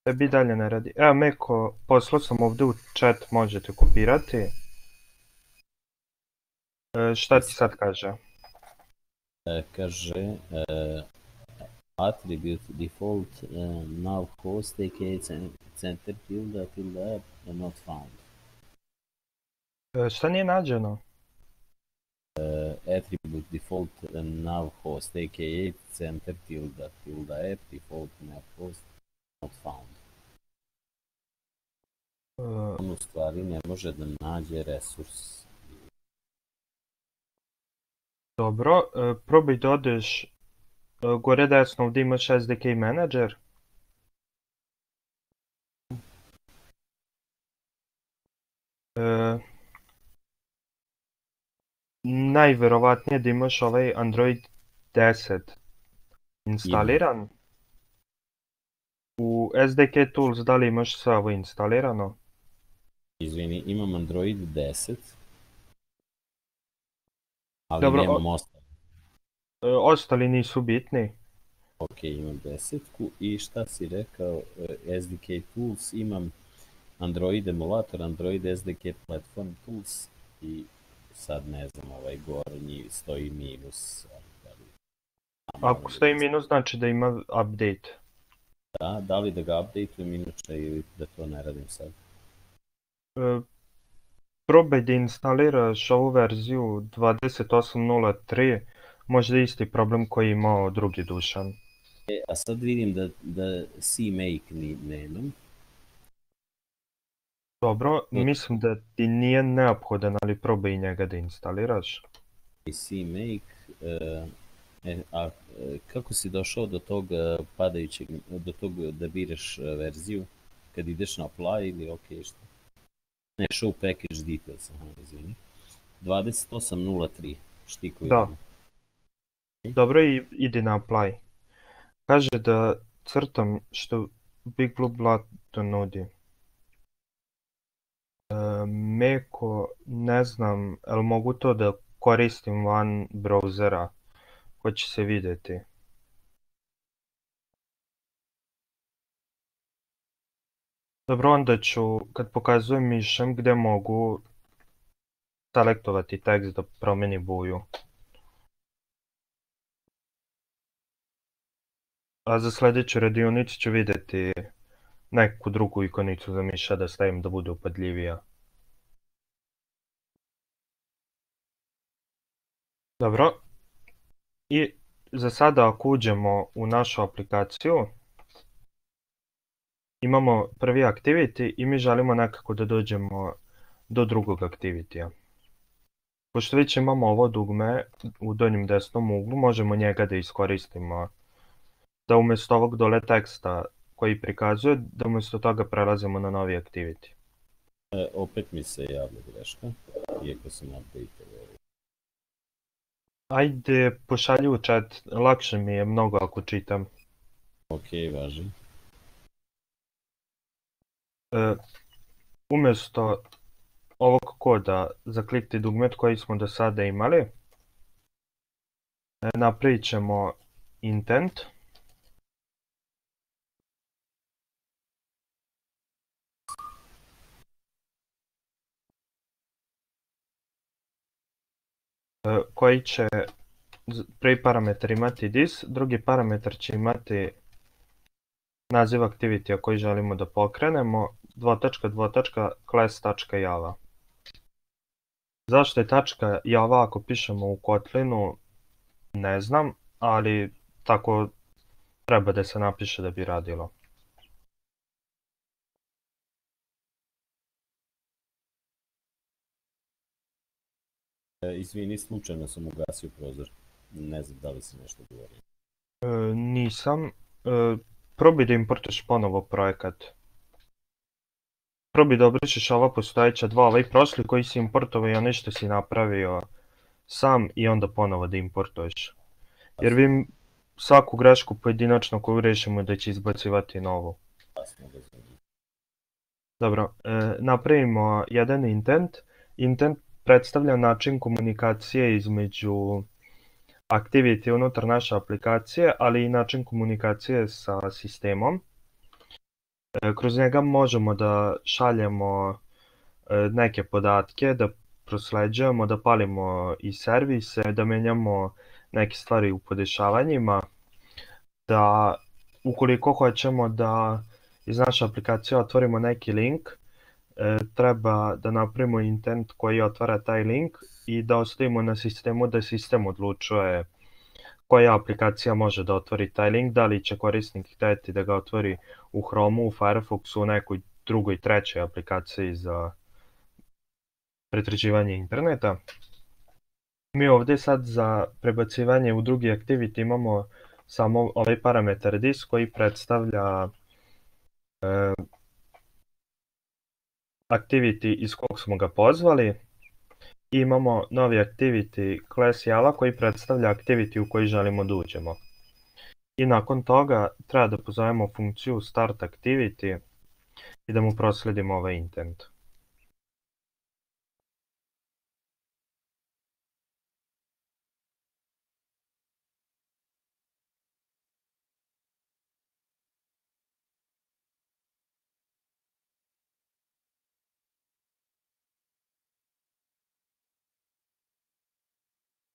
Tebi dalje ne radi. Evo Meko, poslao sam ovdje u chat, možete kopirati. E, šta ti sad kaže? E, kaže, e, attribute default e, now host aka center tilde tilde app not found. E, šta nije nađeno? Uh, attribute default uh, now host aka center tilde tilde app default nav host not found. Uh, On u stvari ne može da nađe resurs. Dobro, uh, probaj da odeš uh, gore desno ovdje imaš S D K manager. Uh, najverovatnije da imaš ovaj Android deset instaliran. U S D K Tools da li imaš sve ovo instalirano? Izvini, imam Android deset, ali Dobro, nemam o... ostalo. Uh, ostali nisu bitni. Ok, imam desetku i šta si rekao, uh, S D K Tools, imam Android emulator, Android S D K Platform Tools i sad ne znam, ovaj gornji stoji minus. Ako stoji minus znači da ima update. Da, da li da ga updateujem inače ili da to ne radim sad? Uh, probaj da instaliraš ovu verziju dvadeset osam nula tri, možda isti problem koji je imao drugi Dušan. E, a sad vidim da, da CMake ni nemam. Dobro, mislim da ti nije neophodan, ali probaj i njega da instaliraš. CMake, uh, e, a kako si došao do tog padajućeg, do tog da biraš verziju, kad ideš na apply ili ok što? Ne, show package details, aha, izvini. dvadeset osam nula tri, štiku da. Idem. Dobro, i idi na apply. Kaže da crtam što Big Blue Button nudi. E, Meko, ne znam, ali mogu to da koristim van brauzera, hoće se vidjeti. Dobro, onda ću, kad pokazujem mišem gdje mogu selektovati tekst da promeni boju. A za sljedeću radionicu ću vidjeti neku drugu ikonicu za miša da stavim da bude upadljivija. Dobro. I za sada ako uđemo u našu aplikaciju, imamo prvi activity i mi želimo nekako da dođemo do drugog activity-a. Pošto već imamo ovo dugme u donjem desnom uglu, možemo njega da iskoristimo da umjesto ovog dole teksta koji prikazuje, da umjesto toga prelazimo na novi activity. E, opet mi se javlja greška, iako sam update. Ajde, pošalji u chat, lakše mi je mnogo ako čitam. Ok, važi. E, umjesto ovog koda za klikti dugmet koji smo do sada imali, e, napravit ćemo intent. E, koji će prvi parametar imati this, drugi parametar će imati naziv activity-a koji želimo da pokrenemo, dvotačka, dvotačka, class.java. Zašto je tačka java ako pišemo u Kotlinu, ne znam, ali tako treba da se napiše da bi radilo. E, izvini, slučajno sam ugasio prozor. Ne znam da li si nešto govorio. E, nisam. E, probaj da importuješ ponovo projekat. Probaj da obrišeš ova postojeća dva, ovaj prošli koji si importovao i onaj što si napravio sam i onda ponovo da importuješ. Jer vi svaku grešku pojedinačno koju rešimo da će izbacivati novu. Dobro, e, napravimo jedan intent. Intent predstavlja način komunikacije između activity unutar naše aplikacije, ali i način komunikacije sa sistemom. E, kroz njega možemo da šaljemo e, neke podatke, da prosleđujemo, da palimo i servise, da menjamo neke stvari u podešavanjima, da ukoliko hoćemo da iz naše aplikacije otvorimo neki link, e, treba da napravimo intent koji otvara taj link i da ostavimo na sistemu da sistem odlučuje koja aplikacija može da otvori taj link, da li će korisnik hteti da ga otvori u Chromeu, u Firefoxu, u nekoj drugoj, trećoj aplikaciji za pretraživanje interneta. Mi ovdje sad za prebacivanje u drugi activity imamo samo ovaj parametar this koji predstavlja e, activity iz kog smo ga pozvali. I imamo novi activity class java koji predstavlja activity u koji želimo da uđemo. I nakon toga treba da pozovemo funkciju start activity i da mu prosledimo ovaj intent.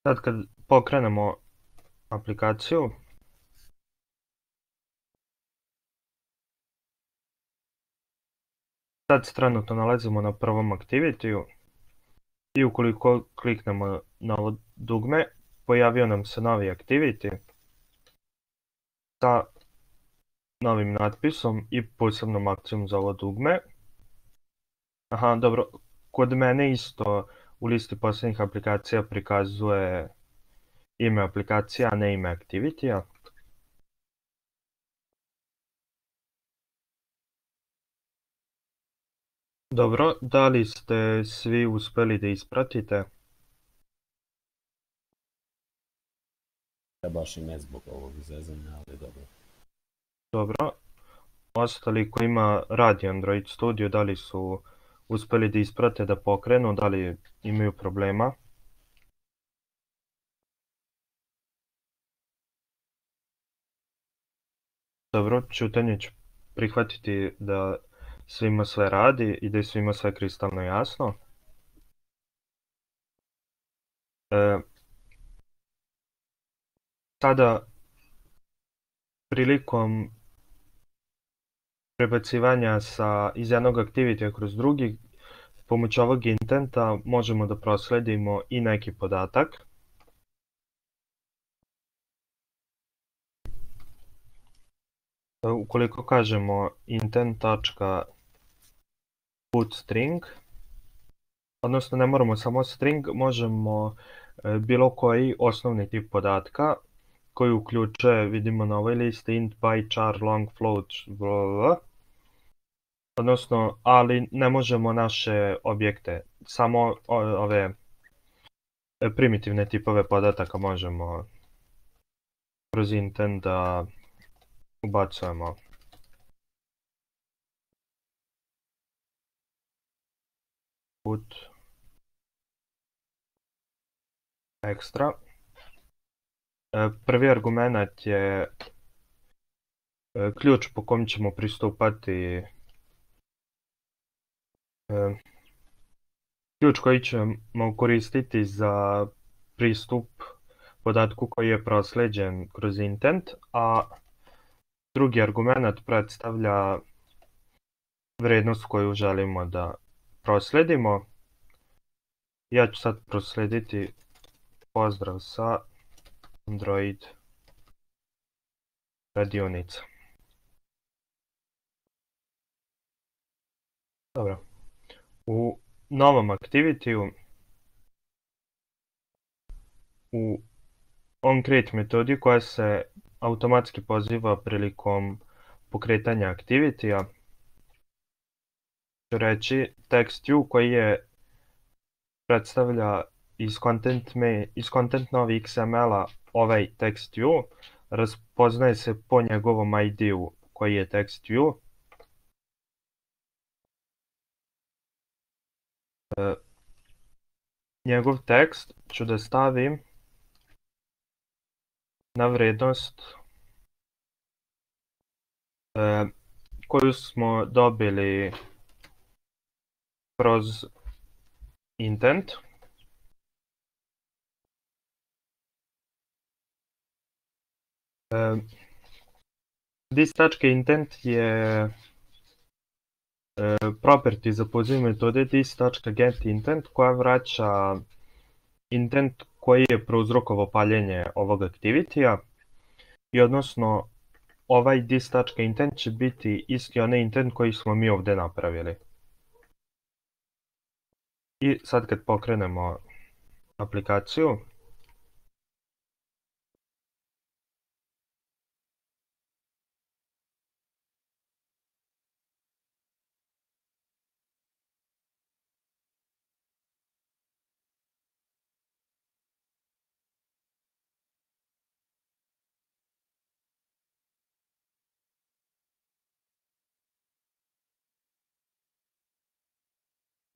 Sad kad pokrenemo aplikaciju, sad se trenutno nalazimo na prvom activity-u i ukoliko kliknemo na ovo dugme, pojavio nam se novi activity sa novim natpisom i posebnom akcijom za ovo dugme. Aha, dobro, kod mene isto u listi posljednjih aplikacija prikazuje ime aplikacija, a ne ime activity-a. Dobro, da li ste svi uspeli da ispratite? Ja baš i ne zbog ovog izvezanja, ali dobro. Dobro. Ostali koji ima radi Android Studio, da li su uspeli da isprate, da pokrenu, da li imaju problema? Dobro, Ćutanje ću prihvatiti da svima sve radi i da je svima sve kristalno jasno. E, sada, prilikom prebacivanja sa, iz jednog activity kroz drugi, pomoću ovog intenta možemo da prosledimo i neki podatak. Ukoliko kažemo intent.put string, odnosno ne moramo samo string, možemo bilo koji osnovni tip podatka koji uključuje, vidimo na ovoj listi, int, byte, char, long, float, blablabla. Odnosno, ali ne možemo naše objekte, samo ove primitivne tipove podataka možemo kroz intent da ubacujemo. Put extra. Prvi argument je ključ po kom ćemo pristupati, ključ koji ćemo koristiti za pristup podatku koji je prosleđen kroz intent, a drugi argument predstavlja vrednost koju želimo da prosledimo. Ja ću sad proslediti pozdrav sa Android radionica. Dobro. U novom activity-u, u onCreate metodi koja se automatski poziva prilikom pokretanja activity-a, ću reći text.u koji je predstavlja iz content, iz content novi X M L-a ovaj text.u, raspoznaje se po njegovom I D-u koji je text.u. E, njegov tekst ću da stavim na vrednost e, koju smo dobili kroz intent. Uh, This.intent je uh, property za poziv metode this.getIntent koja vraća intent koji je prouzrokovao paljenje ovog activity-a i odnosno ovaj this.intent će biti isti onaj intent koji smo mi ovdje napravili. I sad kad pokrenemo aplikaciju,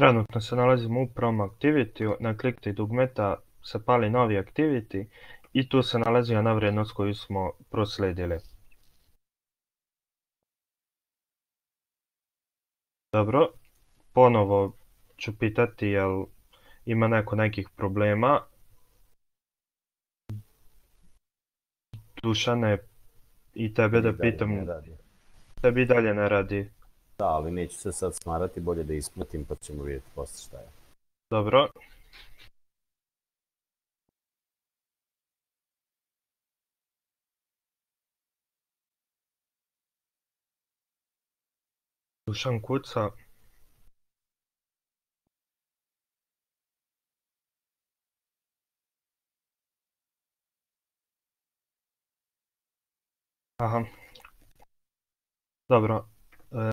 trenutno se nalazimo u Prom Activity, naklikte dugmeta se pali novi Activity i tu se nalazi ona vrednost koju smo prosledili. Dobro, ponovo ću pitati jel ima neko nekih problema. Dušane, i tebe da pitam, tebi dalje ne radi. Da, ali neću se sad smarati, bolje da isplatim pa ćemo vidjeti posle šta je. Dobro. Dušan kuca. Aha. Dobro. E,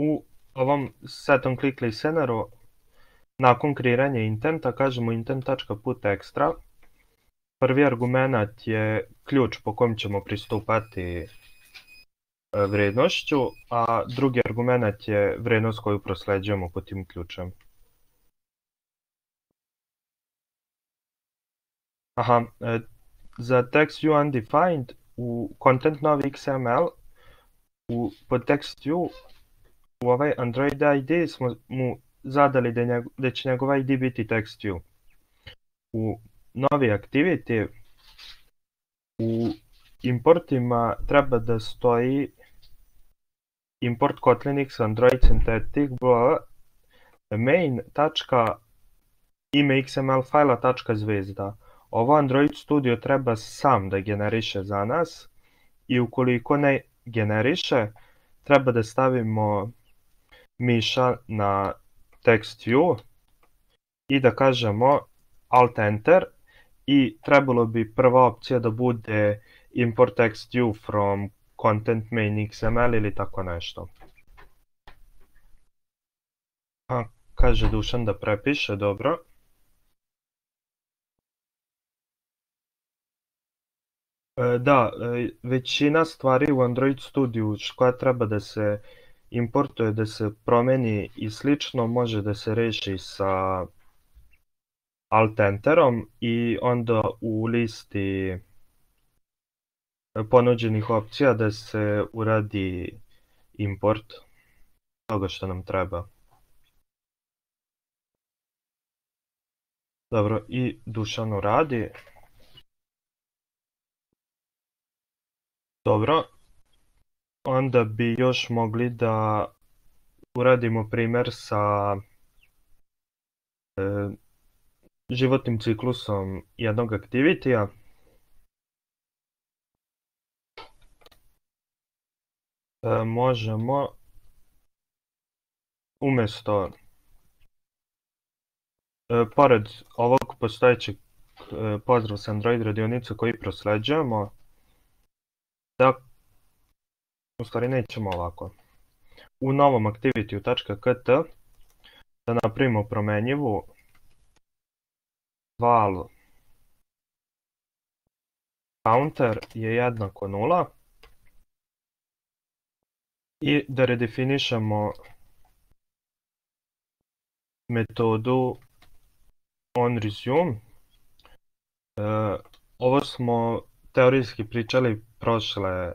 u ovom set on click listeneru nakon kreiranja intenta kažemo intent.put extra. Prvi argument je ključ po kojem ćemo pristupati vrednošću, a drugi argument je vrednost koju prosleđujemo po tim ključem. Aha, e, za text.view undefined u content novi X M L u, pod text.view u ovaj Android I D smo mu zadali da, njeg, da će njegov I D biti text.view. U novi activity u importima treba da stoji import Kotlin X Android Synthetic bla main tačka ime X M L fajla tačka zvezda. Ovo Android Studio treba sam da generiše za nas i ukoliko ne generiše, treba da stavimo miša na text view i da kažemo alt enter i trebalo bi prva opcija da bude import text view from content main X M L ili tako nešto. A, kaže Dušan da prepiše, dobro. E, da, e, većina stvari u Android Studio koja treba da se importuje, da se promeni i slično, može da se reši sa alt enterom i onda u listi ponuđenih opcija da se uradi import toga što nam treba. Dobro, i Dušan uradi. Dobro, onda bi još mogli da uradimo primjer sa e, životnim ciklusom jednog aktivitija. E, možemo umjesto e, pored ovog postojećeg e, pozdrav sa Android radionice koji prosleđujemo, da u stvari nećemo ovako. U novom activity.kt da napravimo promenjivu val counter je jednako nula i da redefinišemo metodu onResume. E, ovo smo teorijski pričali prošle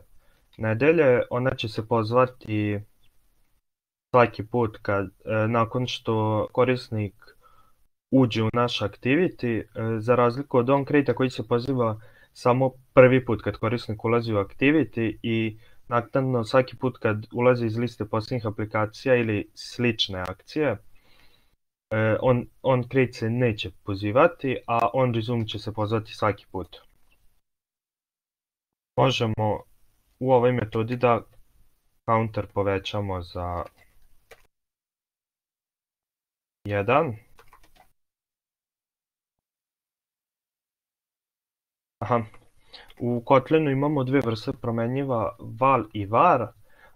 nedelje, ona će se pozvati svaki put kad, e, nakon što korisnik uđe u naš activity, e, za razliku od onCreate koji se poziva samo prvi put kad korisnik ulazi u activity i naknadno svaki put kad ulazi iz liste posljednjih aplikacija ili slične akcije, e, on, onCreate se neće pozivati, a onResume će se pozvati svaki put. Možemo u ovoj metodi da counter povećamo za jedan. Aha. U Kotlinu imamo dvije vrste promenjiva, val i var.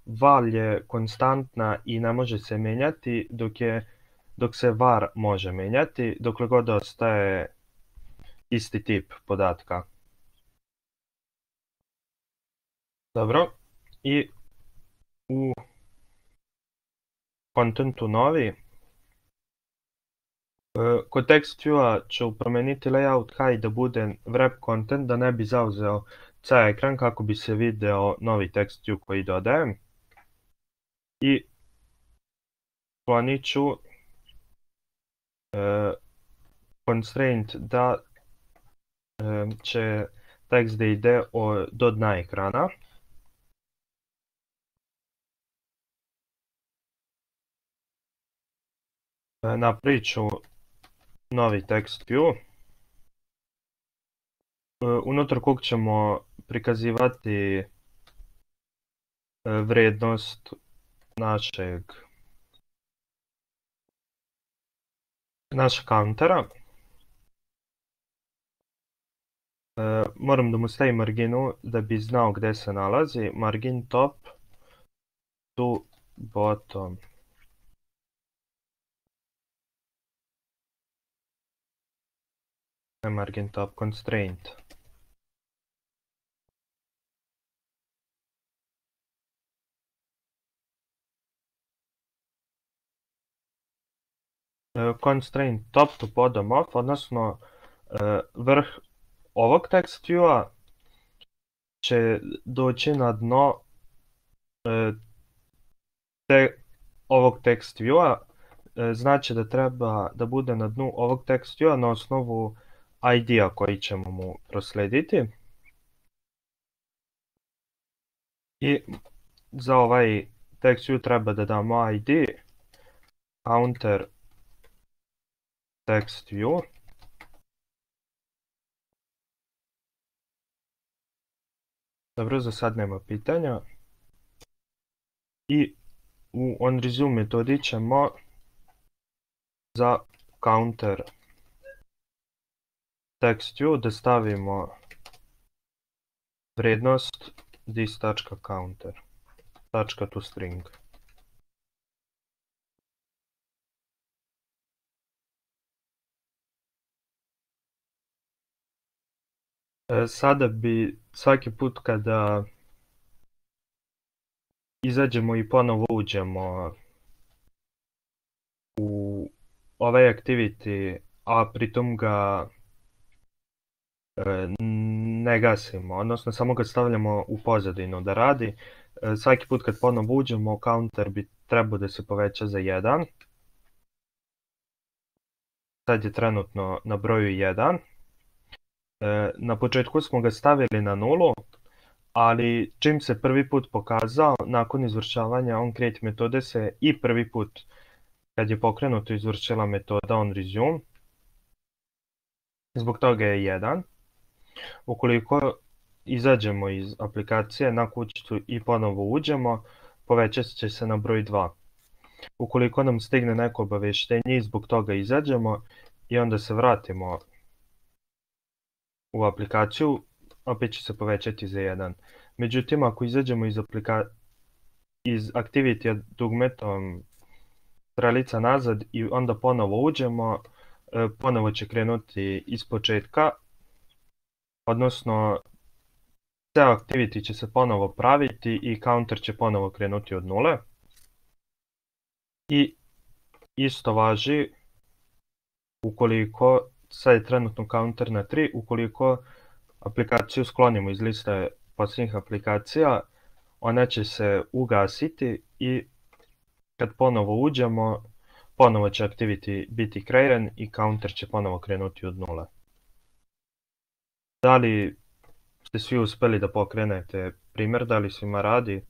Val je konstantna i ne može se menjati, dok, je, dok se var može menjati, dokle god ostaje isti tip podatka. Dobro, i u kontentu novi, kod text view-a ću promeniti layout high da bude wrap content, da ne bi zauzeo ceo ekran kako bi se video novi text view koji dodajem. I sklonit ću uh, constraint da uh, će tekst da ide od, do dna ekrana. Uh, napravit ću novi text view, unutar kog ćemo prikazivati vrednost našeg našeg countera. Moram da mu stavim marginu da bi znao gde se nalazi. Margin top to bottom. Margin top constraint. Constraint top to bottom off, odnosno vrh ovog text view-a će doći na dno te, ovog text view-a, znači da treba da bude na dnu ovog text view-a na osnovu I D-a koji ćemo mu proslediti. I za ovaj text view treba da damo I D, counter text view. Dobro, za sad nema pitanja. I u onResume metodi ćemo za counter text view da stavimo vrednost this.counter, .toString. Sada bi svaki put kada izađemo i ponovo uđemo u ovaj activity, a pritom ga ne gasimo, odnosno samo ga stavljamo u pozadinu da radi, svaki put kad ponovo uđemo, counter bi trebao da se poveća za jedan. Sad je trenutno na broju jedan. Na početku smo ga stavili na nulu, ali čim se prvi put pokazao, nakon izvršavanja onCreate metode se i prvi put kad je pokrenuto izvršila metoda onResume. Zbog toga je jedan. Ukoliko izađemo iz aplikacije na kućicu i ponovo uđemo, povećat će se na broj dva. Ukoliko nam stigne neko obaveštenje i zbog toga izađemo i onda se vratimo u aplikaciju, opet će se povećati za jedan. Međutim, ako izađemo iz, iz activity dugmetom strelica nazad i onda ponovo uđemo, ponovo će krenuti iz početka, odnosno ceo activity će se ponovo praviti i counter će ponovo krenuti od nule. I isto važi ukoliko, sad je trenutno counter na tri, ukoliko aplikaciju sklonimo iz liste posljednjih aplikacija, ona će se ugasiti i kad ponovo uđemo, ponovo će activity biti kreiran i counter će ponovo krenuti od nule. Da li ste svi uspeli da pokrenete primjer, da li svima radi?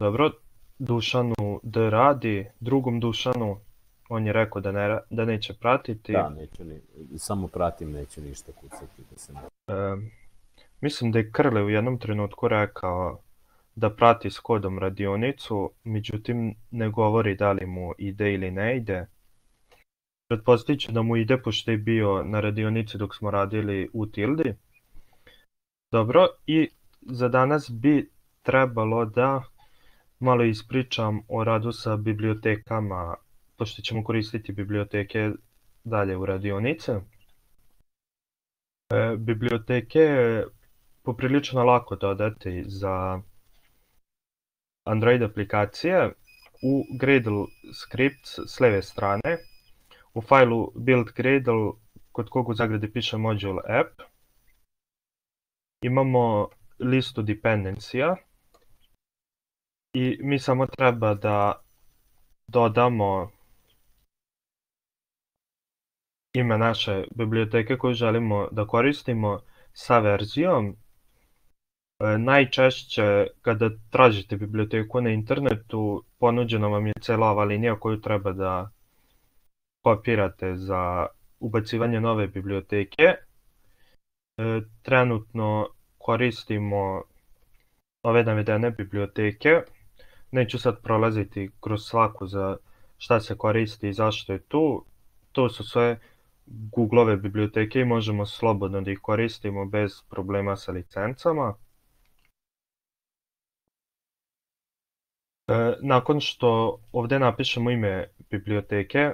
Dobro, Dušanu da radi, drugom Dušanu, on je rekao da, ne, da neće pratiti. Da, neće ni, samo pratim, neće ništa kucati. Da se ne... e, mislim da je Krle u jednom trenutku rekao da prati s kodom radionicu, međutim ne govori da li mu ide ili ne ide. Pretpostavit ću da mu ide pošto je bio na radionici dok smo radili u Tildi. Dobro, i za danas bi trebalo da malo ispričam o radu sa bibliotekama, pošto ćemo koristiti biblioteke dalje u radionice. E, biblioteke je poprilično lako dodati za Android aplikacije. U Gradle scripts s lijeve strane, u failu build Gradle, kod kog u zagradi piše module app, imamo listu dependencija i mi samo treba da dodamo ime naše biblioteke koju želimo da koristimo sa verzijom. E, najčešće kada tražite biblioteku na internetu, ponuđena vam je cela ova linija koju treba da kopirate za ubacivanje nove biblioteke. E, trenutno koristimo ove navedene biblioteke. Neću sad prolaziti kroz svaku za šta se koristi i zašto je tu. To su sve Googleove biblioteke i možemo slobodno da ih koristimo bez problema sa licencama. E, nakon što ovdje napišemo ime biblioteke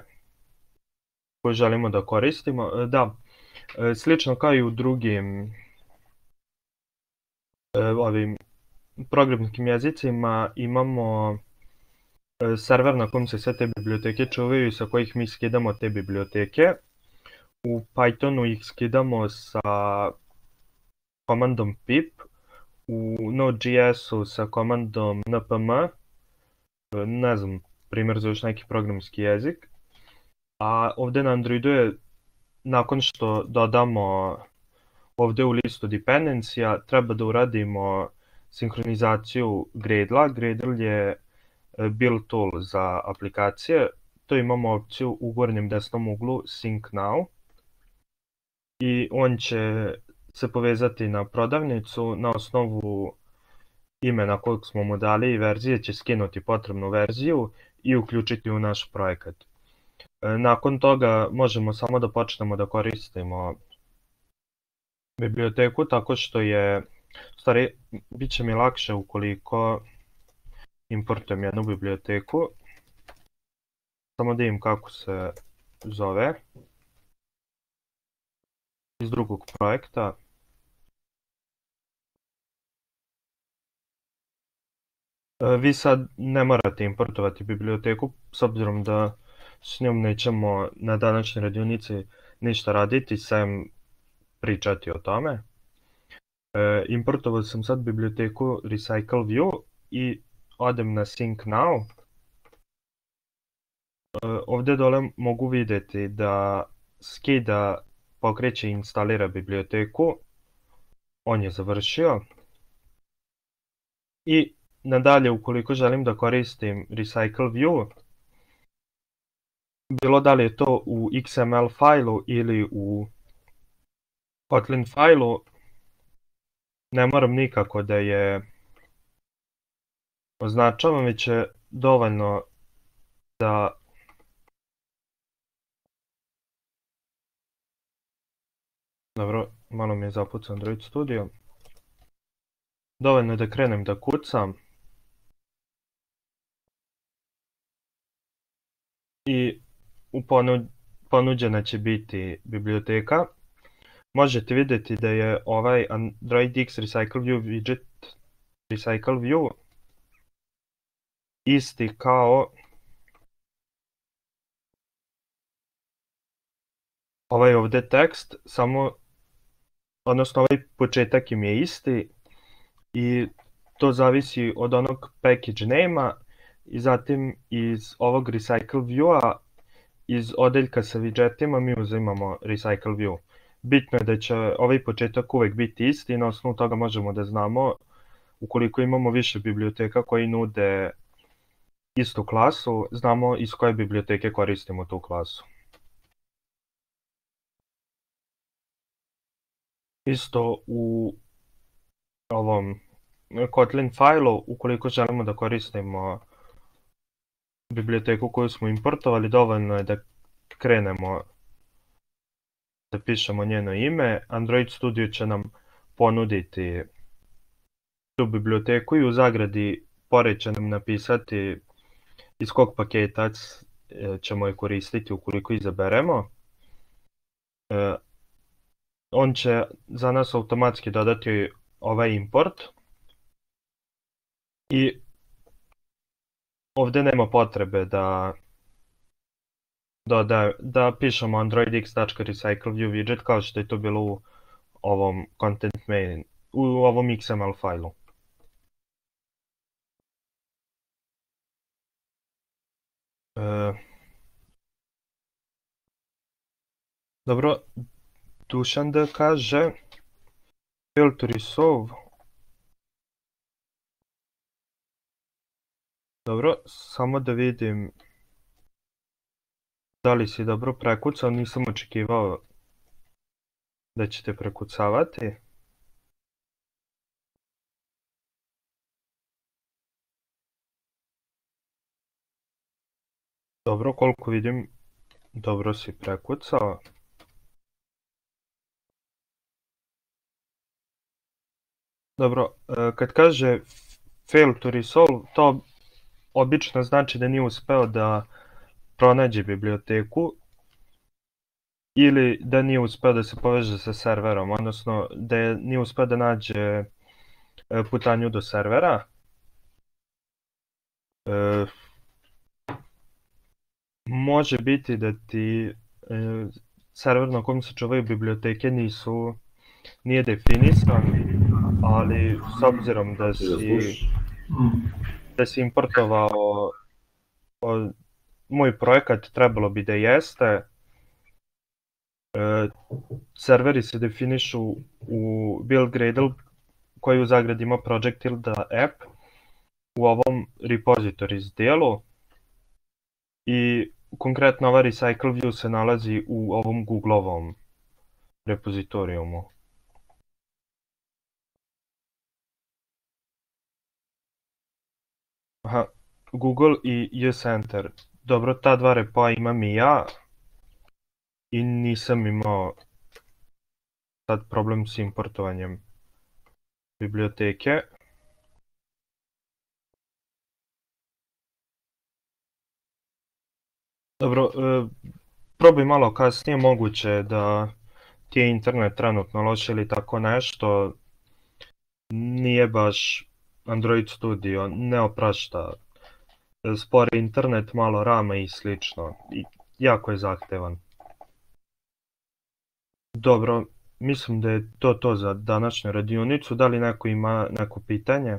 koju želimo da koristimo, e, da, e, slično kao i u drugim e, ovim programskim jezicima, imamo e, server na kojem se sve te biblioteke čuvaju i sa kojih mi skidamo te biblioteke. U Pythonu ih skidamo sa komandom pip, u Node.js-u sa komandom npm, ne znam, primjer za još neki programski jezik. A ovdje na Androidu je, nakon što dodamo ovdje u listu dependencija, treba da uradimo sinhronizaciju Gradle-a. Gradle je build tool za aplikacije. To imamo opciju u gornjem desnom uglu Sync Now. I on će se povezati na prodavnicu na osnovu imena kojeg smo mu dali i verzije će skinuti potrebnu verziju i uključiti u naš projekat. Nakon toga možemo samo da počnemo da koristimo biblioteku tako što je, u stvari, bit će mi lakše ukoliko importujem jednu biblioteku. Samo da im kako se zove iz drugog projekta. Vi sad ne morate importovati biblioteku s obzirom da s njom nećemo na današnjoj radionici ništa raditi, sem pričati o tome. E, importovao sam sad biblioteku RecycleView i odem na Sync Now. E, ovdje dole mogu vidjeti da skida, pokreće i instalira biblioteku. On je završio. I nadalje, ukoliko želim da koristim RecycleView, bilo da li je to u X M L fajlu ili u Kotlin fajlu, ne moram nikako da je označavam, već je dovoljno da dobro, malo mi je zapucao Android Studio. Dovoljno je da krenem da kucam i ponuđena će biti biblioteka. Možete vidjeti da je ovaj Android X RecycleView widget RecycleView isti kao ovaj ovdje tekst, samo, odnosno ovaj početak im je isti i to zavisi od onog package name-a i zatim iz ovog RecycleView-a, iz odeljka sa widgetima mi uzimamo RecycleView. Bitno je da će ovaj početak uvijek biti isti i na osnovu toga možemo da znamo ukoliko imamo više biblioteka koji nude istu klasu, znamo iz koje biblioteke koristimo tu klasu. Isto u ovom Kotlin fajlu, ukoliko želimo da koristimo biblioteku koju smo importovali, dovoljno je da krenemo da pišemo njeno ime. Android Studio će nam ponuditi tu biblioteku i u zagradi pored će nam napisati iz kog paketa ćemo je koristiti ukoliko izaberemo. On će za nas automatski dodati ovaj import i ovdje nema potrebe da Da, da pišemo androidx.recycleView widget kao što je to bilo u ovom content main, u ovom X M L fajlu. E, dobro, Dušan da kaže fail to resolve. Dobro, samo da vidim da li si dobro prekucao, nisam očekivao da ćete prekucavati. Dobro, koliko vidim, dobro si prekucao. Dobro, kad kaže fail to resolve, to obično znači da nije uspeo da pronađe biblioteku ili da nije uspeo da se poveže sa serverom, odnosno da nije uspeo da nađe putanju do servera. E, može biti da ti e, server na kojem se čuvaju biblioteke nisu, nije definisan, ali s obzirom da si, da si importovao o, moj projekat, trebalo bi da jeste. E, serveri se definišu u build Gradle koji u zagradi ima project tilde app u ovom repositories dijelu i konkretno ova recycle view se nalazi u ovom Googleovom repozitorijumu. Aha, Google i uCenter. Dobro, ta dva repoa imam i ja i nisam imao sad problem s importovanjem biblioteke. Dobro, probaj malo kasnije, moguće da ti je internet trenutno loš ili tako nešto. Nije baš Android Studio, ne oprašta. Spor internet, malo rama i slično. I jako je zahtevan. Dobro, mislim da je to to za današnju radionicu. Da li neko ima neko pitanje?